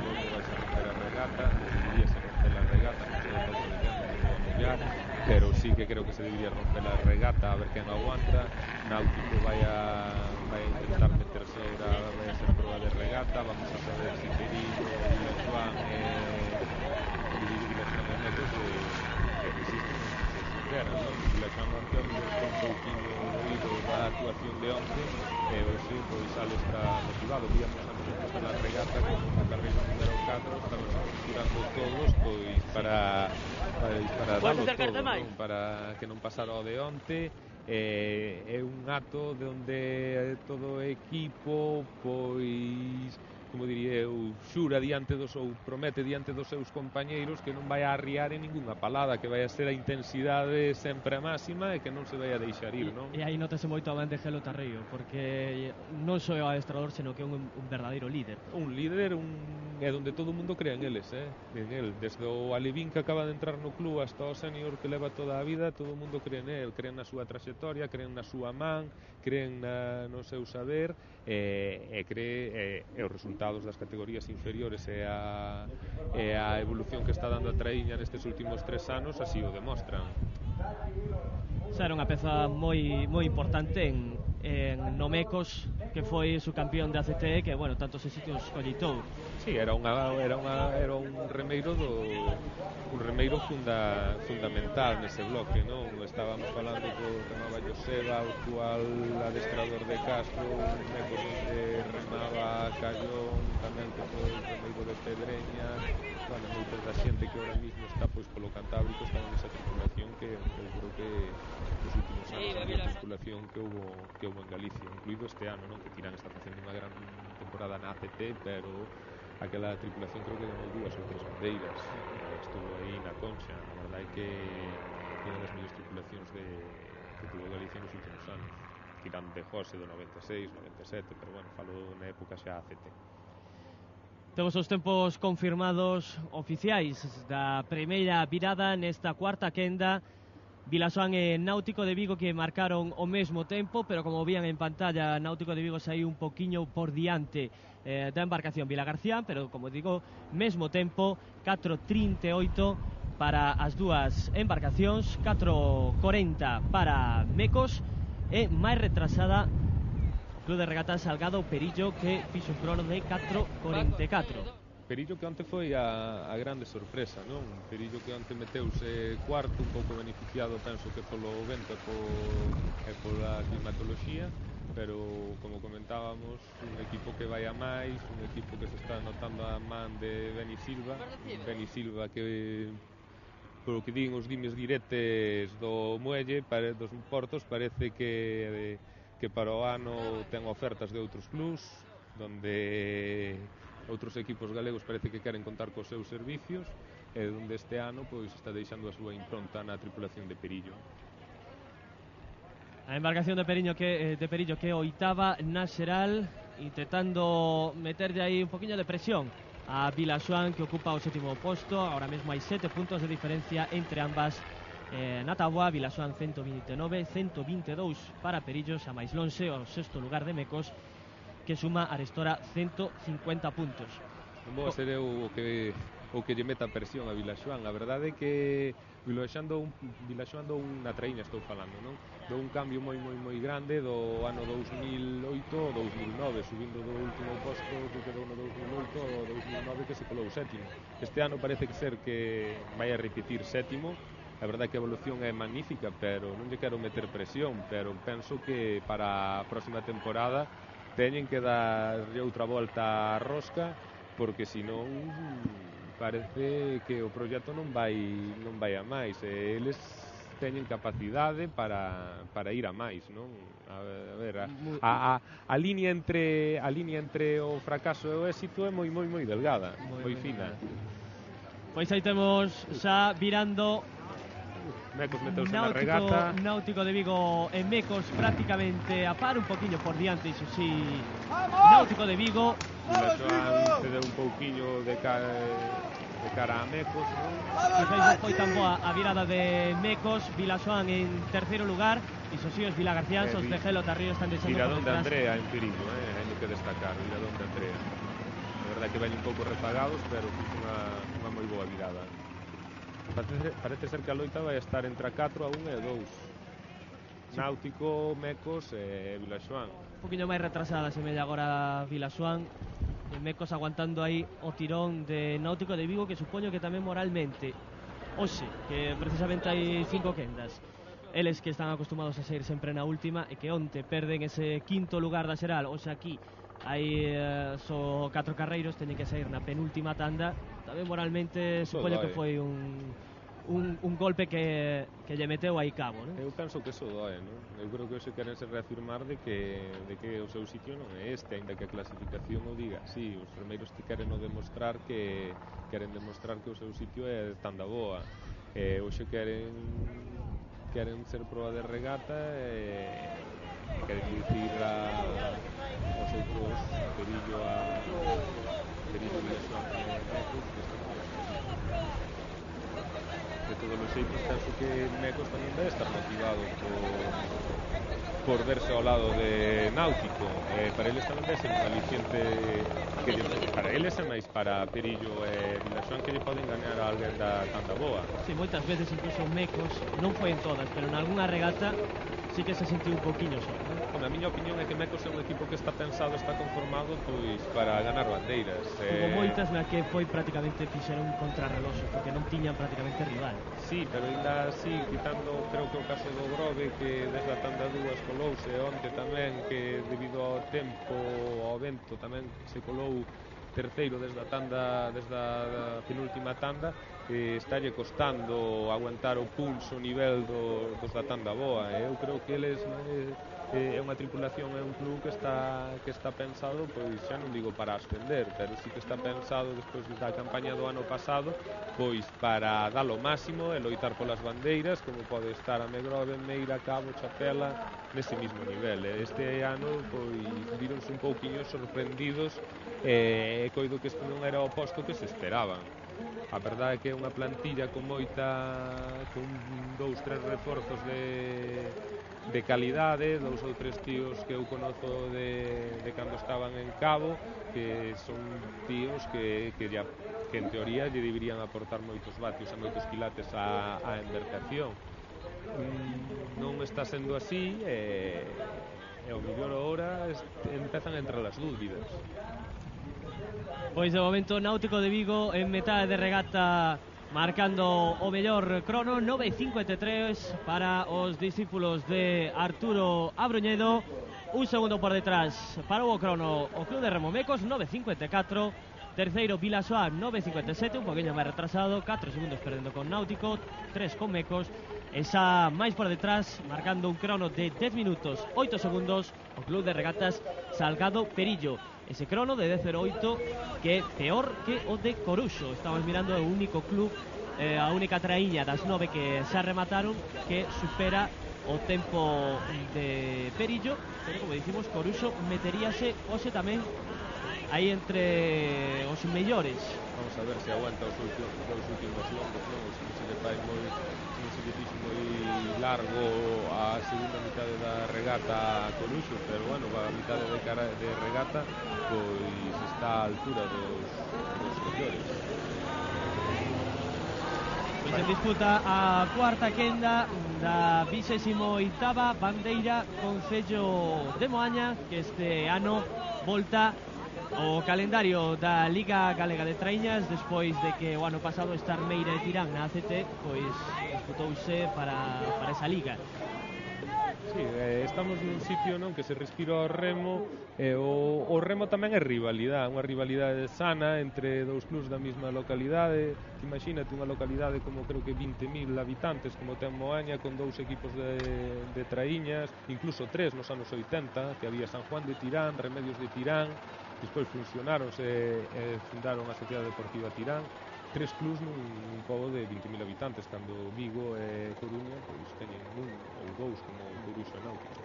logo vai ser romper a regata, debería ser romper a regata, non sei o que dicendo, non vou a mollar, pero sí que creo que se debería romper a regata a ver quen aguanta. Náutico vai a intentar meterse ahora, vai a ser proba de regata, vamos a saber si Perillo, Vilasoán e Mecos que resisten se superan, non? Vilasoán onte a mellor con un pouquinho oído da actuación de onte e hoxe pois sale extra motivado. Víamos antes de empezar a regata con o carreiro número 4 estaban tirando todos pois para darlo todo, non? Para que non pasara o de onte. É un acto de onde todo o equipo pois, como diría eu, xura diante dos ou promete diante dos seus compañeiros que non vai a arriar en ningunha palada, que vai a ser a intensidade sempre a máxima e que non se vai a deixar ir, non? E aí notase moito a man de Gelo Tarrío, porque non só é o adestrador, senón que é un verdadeiro líder. Un líder, é onde todo o mundo crea en eles, en el. Desde o Alevín que acaba de entrar no club hasta o senior que leva toda a vida, todo o mundo cree en el, creen na súa traxectoria, creen na súa man, creen no seu saber e cree os resultados das categorías inferiores e a evolución que está dando a Traíña nestes últimos 3 anos así o demostran. Xa era unha peza moi importante en Mecos, que foi subcampeón de ACT, que, bueno, tantos éxitos collitou. Sí, era un remeiro fundamental nese bloque, non? Estábamos falando do remaba Joseba, o actual adestrador de Castro, Mecos onde remaba Callón, tamén que foi o remeiro de Pedreña, bueno, moita da xente que ahora mismo está pois polo Cantábrico estaba nesa tripulación que eu creo que nos últimos anos a tripulación que houve en Galicia, incluído este ano, non? Que Tirán está facendo unha gran temporada na ACT, pero aquela tripulación creo que ganou 2 ou 3 bandeiras, estuvo aí na Concha. A verdade é que unha das mellores tripulacións que tuvo Galicia nos últimos anos, tirando de José do 96, 97, pero bueno, falo na época xa ACT. Temos os tempos confirmados oficiais da primeira virada nesta cuarta quenda. Vilasoán e Náutico de Vigo que marcaron o mesmo tempo, pero como vían en pantalla, Náutico de Vigo saiu un poquinho por diante da embarcación Vilagarcía, pero como digo, mesmo tempo, 4:38 para as dúas embarcacións, 4:40 para Mecos e máis retrasada o Club de Regatas Salgado Perillo, que fixo un crono de 4:44. Perillo que onte foi a grande sorpresa, non? Perillo que onte meteuse cuarto, un pouco beneficiado, penso que polo vento e pola climatoloxía, pero como comentábamos, un equipo que vai a máis, un equipo que se está notando a man de Beni Silva que polo que din os dimes diretes do muelle, dos portos, parece que para o ano ten ofertas de outros clubs, donde outros equipos galegos parece que queren contar cos seus servicios e onde este ano pois está deixando a súa impronta na tripulación de Perillo. A embarcación de Perillo que é oitava na xeral, intentando meterlle aí un poquinho de presión a Vilasoán, que ocupa o 7º posto. Ahora mesmo hai 7 puntos de diferencia entre ambas na táboa. Vilasoán 129, 122 para Perillo, xa máis lonxe o 6º lugar de Mecos, que suma arestora 150 puntos. Non vou a ser eu o que lle meta presión a Vilasoán. A verdade é que Vilasoán dou unha Traíña, estou falando, non? Dou un cambio moi grande do ano 2008 ao 2009, subindo do último posto que quedou no 2008 ao 2009, que se colou sétimo. Este ano parece que ser que vai a repetir sétimo. A verdade é que a evolución é magnífica, pero non lle quero meter presión, pero penso que para a próxima temporada teñen que darlle outra volta á rosca, porque senón parece que o proxecto non vai a máis, e eles teñen capacidade para ir a máis, non? A ver, a liña entre o fracaso e o éxito é moi delgada, moi fina. Pois aí temos xa virando Mecos meteuse na regata. Náutico de Vigo e Mecos prácticamente a par, un poquinho por diante, iso sí, Náutico de Vigo. Vilaxoán cedeu un pouquiño de cara a Mecos, non? Quizás foi tan boa a virada de Mecos. Vilaxoán en terceiro lugar, iso sí, os Vilagarciáns, os de Gelo Tarrío están deixando Viradón por de detrás. Andrea en perigo, hai que destacar, Viradón de Andrea. A verdade que ven un pouco rezagados, pero fixe unha moi boa virada. Parece ser que a loita vai estar entre a 4, a 1 e a 2. Náutico, Mecos e Vilaxoán. Un poquinho máis retrasada se mella agora Vilaxoán. Mecos aguantando aí o tirón de Náutico de Vigo, que supoño que tamén moralmente hoxe, que precisamente hai 5 quendas, eles que están acostumados a sair sempre na última e que onte perden ese quinto lugar da xeral, hoxe aquí hai só 4 carreiros, teñen que sair na penúltima tanda, tamén moralmente supoño que foi un golpe que lle meteu aí cabo, non? Eu penso que eso doe, non? Eu creo que hoxe queren se reafirmar de que o seu sitio non é este, ainda que a clasificación o diga. Sí, os primeiros que queren demostrar que o seu sitio é tanda boa. Hoxe queren ser proa de regata e queren dicir aos outros Perillo Vilaxoán e Mecos que están de todos os xeitos. Penso que Mecos tamén debe estar motivado por verse ao lado de Náutico. Para eles tamén debe ser un aliciente para eles e máis para Perillo e Vilaxoán, que lle poden gañar a alguén da tanta boa. Sí, moitas veces incluso Mecos, non foi en todas, pero en algunha regata sí que se sentiu un poquinho só, non? A miña opinión é que Mecos é un equipo que está pensado, está conformado pois para ganar bandeiras. Hubo moitas na que foi prácticamente fixeron un contrarreloxo, porque non tiñan prácticamente rival. Sí, pero ainda así, quitando, creo que o caso do Grove, que desde a tanda 2 colouse onte tamén, que debido ao tempo, ao vento, tamén se colou terceiro desde a penúltima tanda, estalle costando aguantar o pulso, o nivel dos da tanda boa. Eu creo que eles é unha tripulación, é un club que está pensado, pois xa non digo para ascender, pero sí que está pensado despois da campaña do ano pasado, pois para dar o máximo e loitar polas bandeiras, como pode estar a Megrove, Meira, Cabo, Chapela nese mismo nivel. Este ano pois vironse un pouquiño sorprendidos e coido que este non era o posto que se esperaban. A verdade é que é unha plantilla con 2-3 reforzos de calidade, 2 ou 3 tíos que eu conozo de cando estaban en Cabo, que son tíos que en teoría lle deberían aportar moitos vatios e moitos quilates á embarcación. Non está sendo así e ao mellor ahora empezan a entrar as dúbidas. Pois de momento Náutico de Vigo en metade de regata marcando o mellor crono, 9.53 para os discípulos de Arturo Abroñedo. Un segundo por detrás para o crono o Club de Remo Mecos, 9.54. Terceiro Vilaxoán, 9.57, un poquinho máis retrasado, 4 segundos perdendo con Náutico, 3 con Mecos. E xa máis por detrás, marcando un crono de 10 minutos 8 segundos, o Club de Regatas Salgado Perillo. Ese crono de 10.08 que é peor que o de Coruxo. Estamos mirando o único club, a única traíña das 9 que xa remataron, que supera o tempo de Perillo, pero como dicimos, Coruxo meteríase hoxe tamén aí entre os mellores. Vamos a ver se aguanta os últimos longos, non? Se lle fai moi largo a segunda mitade da regata a Coruxo, pero bueno, a mitade de regata pois está á altura dos mellores. Pois en disputa a cuarta quenda da 28ª bandeira Concello de Moaña, que este ano volta o calendario da Liga Galega de Traíñas despois de que o ano pasado estar Meira e Tirán na ACT pois disputouse para esa liga. Sí, estamos nun sitio non que se respira o remo e o remo tamén é rivalidade, unha rivalidade sana entre dous clubs da mesma localidade. Imagínate unha localidade como creo que 20.000 habitantes como ten Moaña, con 2 equipos de traíñas, incluso 3 nos anos 80, que había San Juan de Tirán, Remedios de Tirán, despois funcionaronse e fundaron a Sociedade Deportiva Tirán. tres clubs nun pobo de 20.000 habitantes, cando Vigo e Coruña pois teñen un ou dous como Coruxo e Náutico.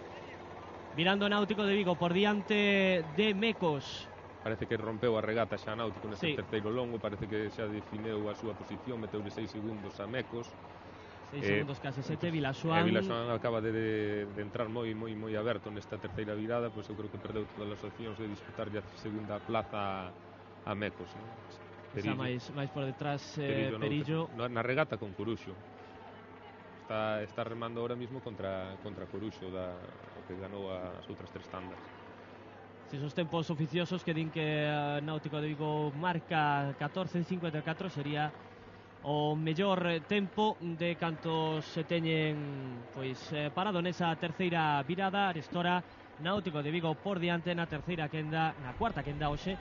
Mirando Náutico de Vigo por diante de Mecos. Parece que rompeu a regata xa Náutico neste terceiro longo, parece que xa defineu a súa posición, meteule 6 segundos a Mecos. 6 segundos, case 7, Vilaxoán. Vilaxoán acaba de entrar moi aberto nesta terceira virada, pois eu creo que perdeu todas as opcións de disputar a segunda plaza a Mecos, non? Está máis por detrás Perillo. Na regata con Coruxo. Está remando ahora mismo contra Coruxo, o que ganou as outras 3 tandas. Esos tempos oficiosos que din que Náutico de Vigo marca 14:54 sería o mellor tempo de cantos se teñen parado nesa terceira virada. Arestora Náutico de Vigo por diante na terceira quenda, na cuarta quenda hoxe,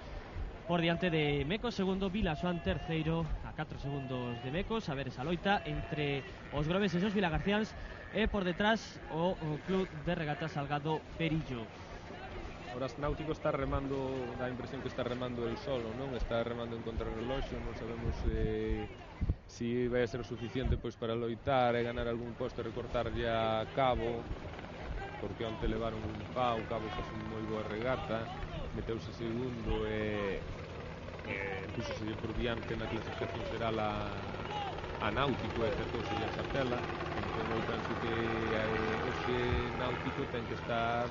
por diante de Mecos segundo, Vilaxoán terceiro a 4 segundos de Mecos. A ver esa loita entre os groveses e os vilagarciáns, e por detrás o Club de Regatas Salgado Perillo. Ahora Náutico está remando, dá a impresión que está remando el solo, non? Está remando en contrarreloxo, non sabemos si vai a ser o suficiente pois para loitar e ganar algún posto e recortar ya Cabo, porque onte levaron un pau, Cabo faz un moi boa regata, meteuse segundo e puxose por diante na clasificación xeral a Náutico e acertouse a Xartela. Entón eu penso que hoxe Náutico ten que estar,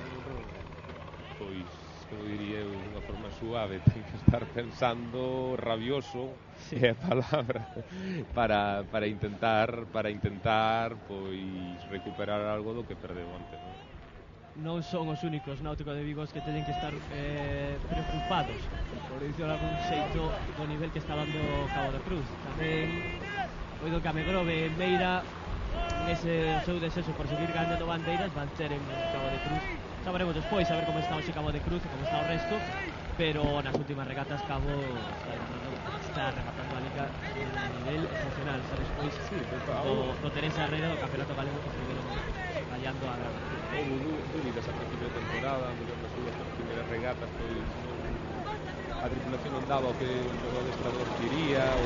pois, como diría eu, de unha forma suave, ten que estar pensando rabioso, é a palabra, para intentar pois recuperar algo do que perdeu onte, non? Non son os únicos Náutico de Vigo que teñen que estar preocupados, por dicirlo de algún xeito, do nivel que está dando Cabo de Cruz. Tamén oído que a Megrove e Meira, nese seu desexo por seguir ganando bandeiras, van ter en Cabo de Cruz. Sabremos despois a ver como está hoxe Cabo de Cruz e como está o resto, pero nas últimas regatas Cabo está rematando a liga a un nivel excepcional. Xa despois do Teresa Herrera do Campeonato Galego que estiveron fallando a grava. Houve dúbidas a principio de temporada, nas súas primeiras regatas, pois a tripulación non daba o que o adestrador quería ou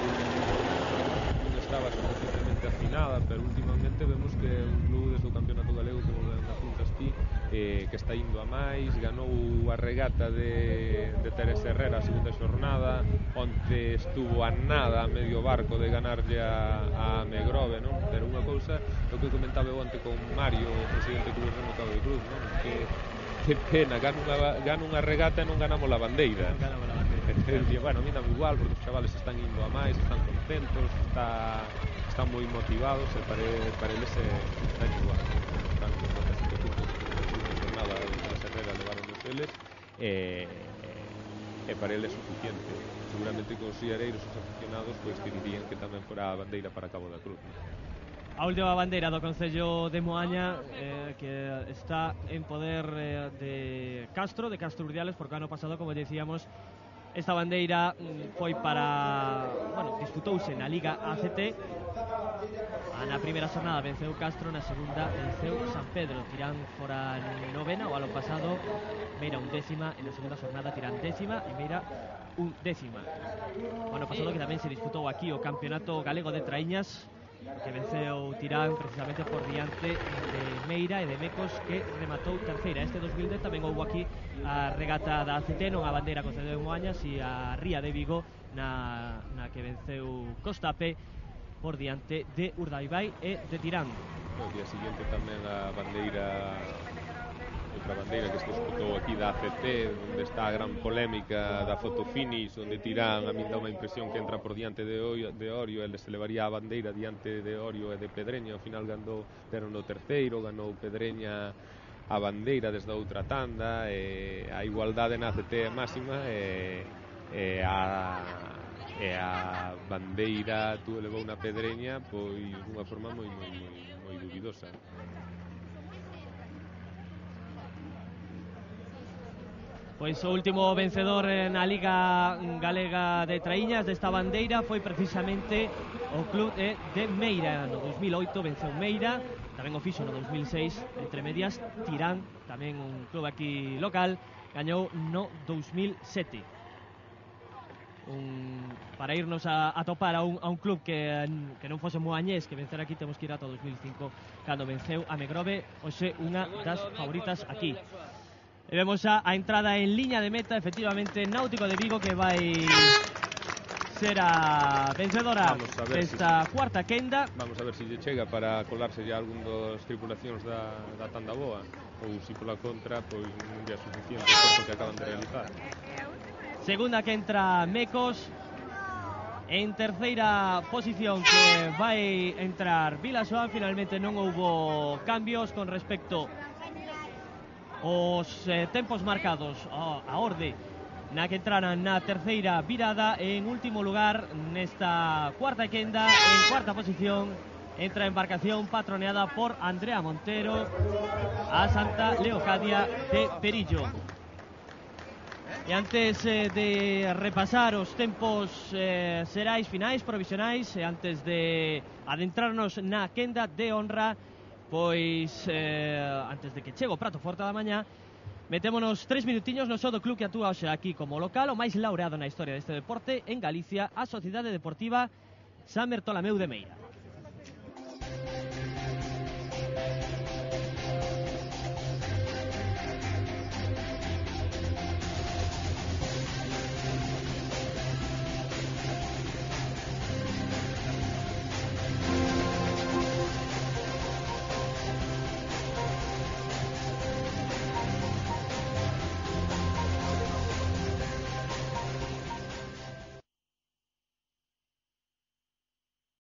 non estaba suficientemente afinada, pero últimamente vemos que é un club desde o Campeonato Galego, como apuntas ti, que está indo a máis. Ganou a regata de Teresa Herrera a segunda xornada, onte estuvo a nada, a medio barco de ganarlle a Megrove, non? Pero unha cousa, o que comentaba onte con Mario, o presidente do Remo Cabo de Cruz, non? Que pena, gana unha regata e non ganamos a bandeira. Bueno, a mí dame igual, porque os chavales están indo a máis, están contentos, están moi motivados, e para eles están igual. Están con 47 puntos na jornada de Herrera levaron os eles, e para eles é suficiente. Seguramente que os siareiros, os aficionados, pois que dirían que tamén fora a bandeira para Cabo da Cruz. A última bandeira do Concello de Moaña, que está en poder de Castro Urdiales, porque ano pasado, como decíamos, esta bandeira foi disputouse na Liga ACT. Na primeira xornada venceu Castro, na segunda venceu San Pedro. Tirán fora novena o ano pasado, Meira 11ª, e na segunda xornada Tirán 10ª e Meira 11ª. O ano pasado que tamén se disputou aquí o Campeonato Galego de Traíñas, que venceu Tirán precisamente por diante de Meira e de Mecos, que rematou terceira. Este 2010 tamén houve aquí a regata da ACT, non a bandeira Concello de Moañas, e a Ría de Vigo na que venceu Costape por diante de Urdaibai e de Tirán. O día siguiente tamén a bandeira, outra bandeira que se disputou aquí da ACT, onde está a gran polémica da foto finish, onde Tirán, a min dá unha impresión que entra por diante de Orio, ele se levaría a bandeira diante de Orio e de Pedreña. Ao final deron no terceiro, ganou Pedreña a bandeira desde a outra tanda, e a igualdade na ACT é máxima, e a bandeira levou na Pedreña pois dunha forma moi dubidosa. Pois o último vencedor na Liga Galega de Traíñas desta bandeira foi precisamente o club de Meira. No 2008 venceu Meira, tamén o fixo no 2006, entre medias Tirán, tamén un club aquí local, gañou no 2007. para irnos a topar a un club que non fose moañés, que vencer aquí temos que ir ata 2005 cando venceu a Megrove, hoxe unha das favoritas aquí. E vemos a entrada en liña de meta, efectivamente, Náutico de Vigo, que vai ser a vencedora desta cuarta quenda. Vamos a ver se lle chega para colarse ya algún dos tripulacións da tanda boa, ou se pola contra, pois non é suficiente o esforzo que acaban de realizar. Segunda que entra Mecos. En terceira posición que vai entrar Vilasoa. Finalmente non houbo cambios con respecto os tempos marcados a orde na que entraran na terceira virada. En último lugar nesta cuarta quenda, en cuarta posición, entra a embarcación patroneada por Andrea Montero, a Santa Leocadia de Perillo. E antes de repasar os tempos xerais finais, provisionais, e antes de adentrarnos na quenda de honra, pois antes de que chegue o prato forte da mañá, metémonos 3 minutiños no só do club que actúa hoxe aquí como local, o máis laureado na historia deste deporte en Galicia, a Sociedade Deportiva San Bertolameu de Meira.